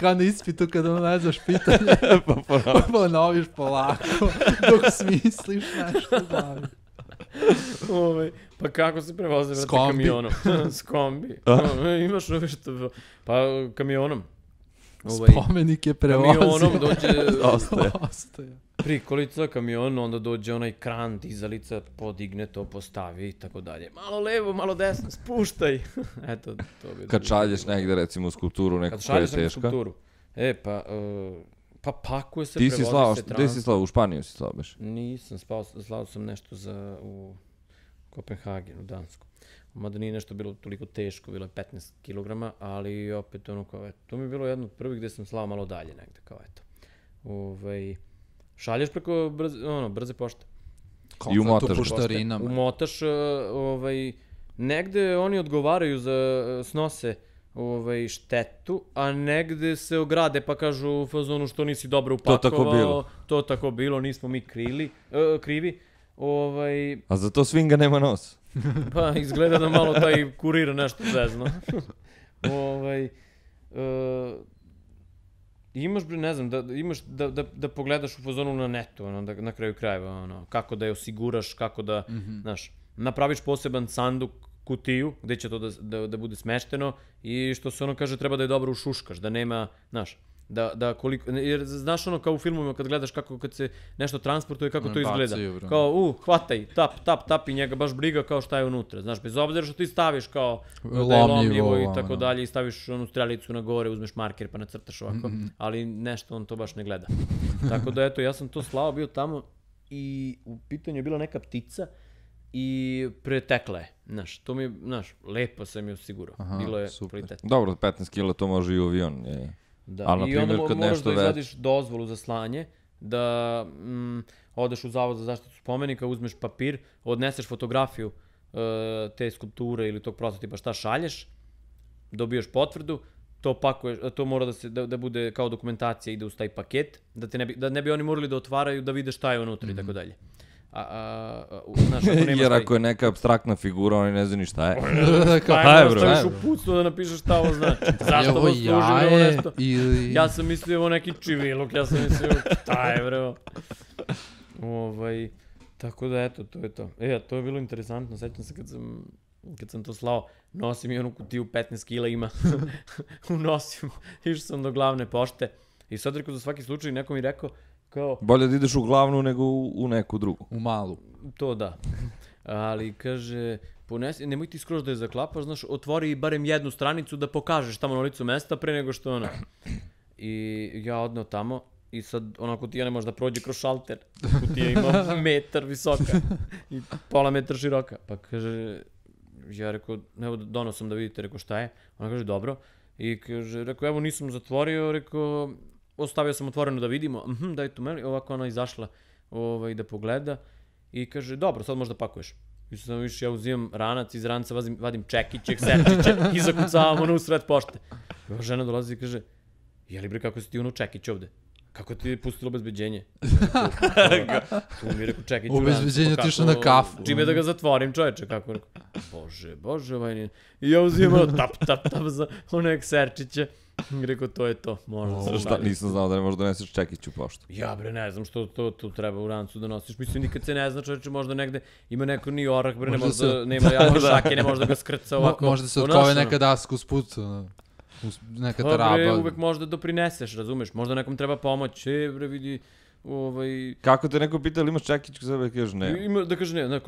Kao na ispitu kada ne znaš pitanje, pa ponoviš polako, dok smisliš nešto glavi. Pa kako se prevoze? S kombi. Kamionom. S kombi. Imaš nešto... Pa kamionom. Spomenik je prevozio. Kamionom dođe... Ostaje. Prikolica, kamion, onda dođe onaj kran, dizalica, podigne to, postavi i tako dalje. Malo levo, malo desno, spuštaj. Eto, to bi... Kad šalješ negde, recimo, skulpturu neku koja je teška. Kad šalješ neku skulpturu. Pa pakuje se, prevozi se trans. Gde si slao? U Španiju si slao beš? Nisam, slao sam nešto u Kopenhagen, u Dansku. Mada nije nešto bilo toliko teško, bilo je 15 kilograma, ali opet ono kao, eto, to mi je bilo jedno od prvih gde sam slao malo dalje negde, kao eto. Šalješ preko brze pošte. I umotaš poštarinama. Umotaš, negde oni odgovaraju za snose štetu, a negde se ograde pa kažu u fazonu što nisi dobro upakovao. To tako bilo, nismo mi krivi. A za to svinga nema nos. Pa izgleda da malo taj kurir nešto zezno. Imaš, ne znam, da pogledaš u fazonu na netu, na kraju krajeva, kako da je osiguraš, kako da, znaš, napraviš poseban sanduk, kutiju, gde će to da bude smešteno i što se kaže treba da je dobro ušuškaš, da nema, znaš, da koliko, jer znaš kao u filmovima kad gledaš kako kad se nešto transportuje, kako to izgleda. Kao, hvataj, tap i njega baš briga kao šta je unutra, znaš, bez obzira što ti staviš kao da je lomljivo i tako dalje i staviš onu strelicu na gore, uzmeš marker pa nacrtaš ovako, ali nešto on to baš ne gleda. Tako da eto, ja sam to slao bio tamo i u pitanju je bila neka ptica i pretekla je. Znaš, to mi je, lepo sam je osigurao. Bilo je kvalitetno. Dobro, 15 kila to može i u avion. Da, ali, i onda moraš da izvadiš dozvolu za slanje, da odeš u Zavod za zaštitu spomenika, uzmeš papir, odneseš fotografiju te skulpture ili tog prototipa, šta šalješ, dobiješ potvrdu, to pakuješ, to mora da bude kao dokumentacija, ide uz taj paket, da ne bi oni morali da otvaraju, da vide šta je unutra i tako dalje. Jer ako je neka abstraktna figura, oni ne znaju ni šta je. Šta je, staviš u pucnu da napišeš šta ovo znači. Zašto ovo služi ovo nešto? Ja sam mislio ovo neki čiviluk, ja sam mislio šta je bre. Tako da eto, to je to. To je bilo interesantno, sećam se kad sam to slao, nosim i onu kutiju 15 kila ima, unosim, išao sam do glavne pošte i sad rekao za svaki slučaj, neko mi rekao, kao... Bolje da ideš u glavnu nego u neku drugu. U malu. To da. Ali kaže, nemoj ti skroz da je zaklapaš, znaš, otvori barem jednu stranicu da pokažeš tamo na licu mesta pre nego što ona. I ja odneo tamo i sad ona kutija ne može da prođe kroz šalter. Kutija ima metar visoka i pola metra široka. Pa kaže, ja rekao, evo donosom da vidite, rekao šta je. Ona kaže, dobro. I kaže, rekao, evo nisam zatvorio, rekao... Ostavio sam otvoreno da vidimo, daj tu meni, ovako ona izašla da pogleda i kaže, dobro, sad možda pakuješ. I sad više ja uzimam ranac, iz ranca vadim čekiće, kserčiće i zakucavam ono u sred pošte. I žena dolazi i kaže, jeli bre kako si ti ono čekić ovde? Kako ti je pustilo obezbeđenje? Tu mi je rekao čekić u rancu. Obezbeđenje ti išao na kafu. Čime da ga zatvorim čoveče, kako rekao. Bože, ovaj nije. I ja uzimam tap za one kserčiće. Rekao, to je to, možda. Šta, nisam znao da ne možeš doneseš čekić u poštu. Ja bre, ne znam što to treba u rancu da nosiš. Mislim, nikad se ne zna, čovječe, možda negde ima neko ni orak, bre, nema jake šake, ne može da ga skrca ovako. Možda se otkove neka daska uz put, neka taraba. Bre, uvek možda doprineseš, razumeš, možda nekom treba pomoć, bre, vidi, Kako te neko pita ili imaš čekić kod sebe, kažeš ne. Da kaže ne,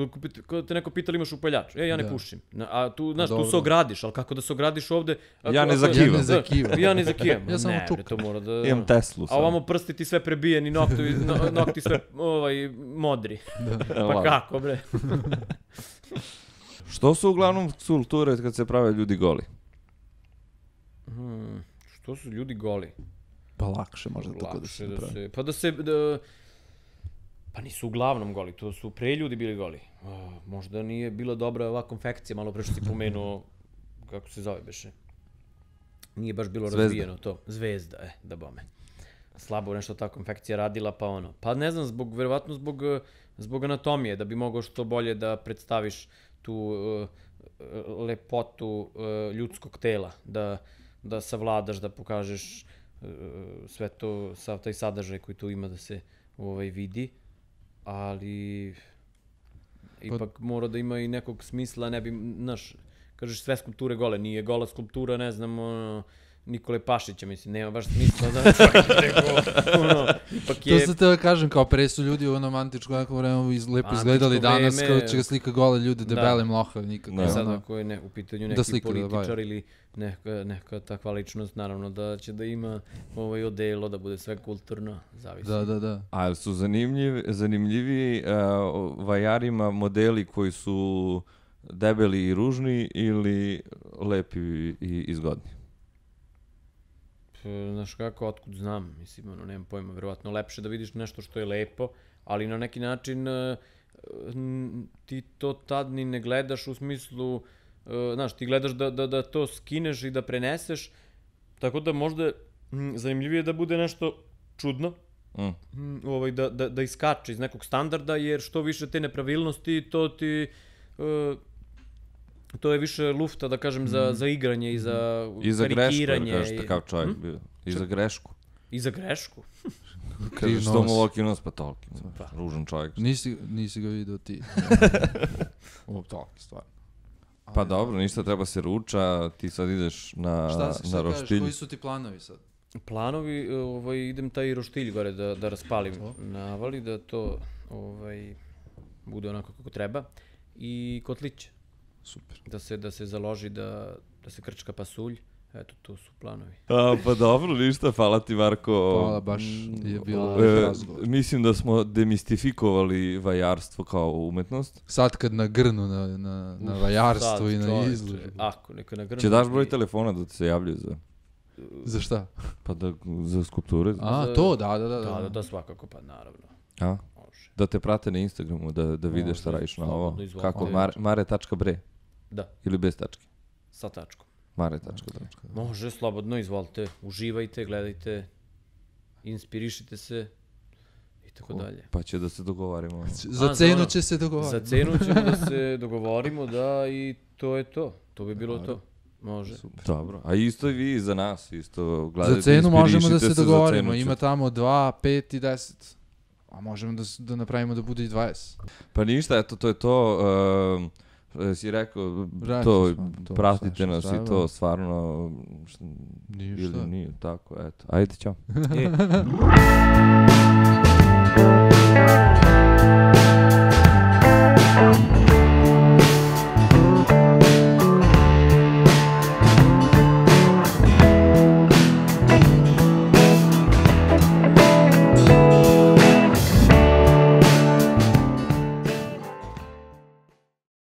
kada te neko pita ili imaš upaljač, ja ne pušim. A tu, znaš, tu se ogradiš, ali kako da se ogradiš ovde? Ja ne zakivam. Ja ne zakivam. Ja samo čuk. To mora da... Imam Teslu sam. A ovamo prsti ti sve prebijeni, nokti sve modri. Pa kako, bre? Što su uglavnom skulpture kad se prave ljudi goli? Što su ljudi goli? Pa lakše možda tako da se napravi. Pa nisu uglavnom goli, to su pre ljudi bili goli. Možda nije bila dobra ova konfekcija, malo pre što si pomenuo, kako se zove beše. Nije baš bilo razvijeno to. Zvezda, da bome. Slabo nešto ta konfekcija radila, pa ono. Pa ne znam, verovatno zbog anatomije, da bi mogao što bolje da predstaviš tu lepotu ljudskog tela, da savladaš, da pokažeš sve to, sav taj sadržaj koji tu ima da se vidi, ali ipak mora da ima i nekog smisla, ne bi, znaš, kažeš sve skulpture gole, nije gola skulptura, ne znam, Nikole Pašića, mislim, nema baš smisla da ipak je... To se te kažem, kao pre su ljudi u onom antičkom vremenu lepo izgledali danas, kao će ga slika gole ljude, debele mlohav, nikako. I sad ako je u pitanju neki političar ili neka takva ličnost, naravno da će da ima odelo, da bude sve kulturno, zavisi. Da. Ali su zanimljivi vajarima modeli koji su debeli i ružni ili lepi i izgodni? Znaš kako, otkud znam, mislim, nemam pojma, verovatno lepše da vidiš nešto što je lepo, ali na neki način ti to tad ni ne gledaš u smislu, znaš, ti gledaš da to skineš i da preneseš, tako da možda zanimljivije da bude nešto čudno, da iskače iz nekog standarda, jer što više te nepravilnosti, to je više lufta, da kažem, za igranje i za karikiranje. I za grešku, kažeš takav čovjek bio. I za grešku. I za grešku? Kažeš što mu Loki nos, pa toliki. Ružan čovjek. Nisi ga vidio ti. Ovo toliki, stvarno. Pa dobro, ništa, treba se ruča, ti sad ideš na roštilj. Šta kažeš, koji su ti planovi sad? Planovi, idem taj roštilj gore da raspalim na avali, da to bude onako kako treba. I kotlić. Super. Da se založi, da se krčka pasulj Eto, to su planovi. Pa dobro, ništa, hvala ti Marko. Hvala, baš je bilo razgovor. Mislim da smo demistifikovali vajarstvo kao umetnost. Sad kad nagrnu na vajarstvo i na izložbu. Ako, neka nagrnu. Će daš broj telefona da se javljaju za... Za šta? Pa za skulpture. To, Da, svakako, pa naravno. Može. Da te prate na Instagramu, da vide šta radiš na ovo. Kako? Mare.bre? Da. Ili bez tačke? Sa tačkom. Mare.bre. Može, slobodno, izvolite. Uživajte, gledajte, inspirišite se i tako dalje. Pa će da se dogovarimo. Za cenu će se dogovarimo. Za cenu ćemo da se dogovorimo, da, i to je to. To bi bilo to. Može. Super. Dobro. A isto i vi za nas, isto gledajte, za cenu možemo da se dogovorimo. Ima tamo 2, 5 i 10. A možemo da napravimo da bude i 20. Pa ništa, eto, to je to. Si rekao, to pratite nas i to stvarno... Ništa. Ili nije, tako, eto. Ajde, ćao.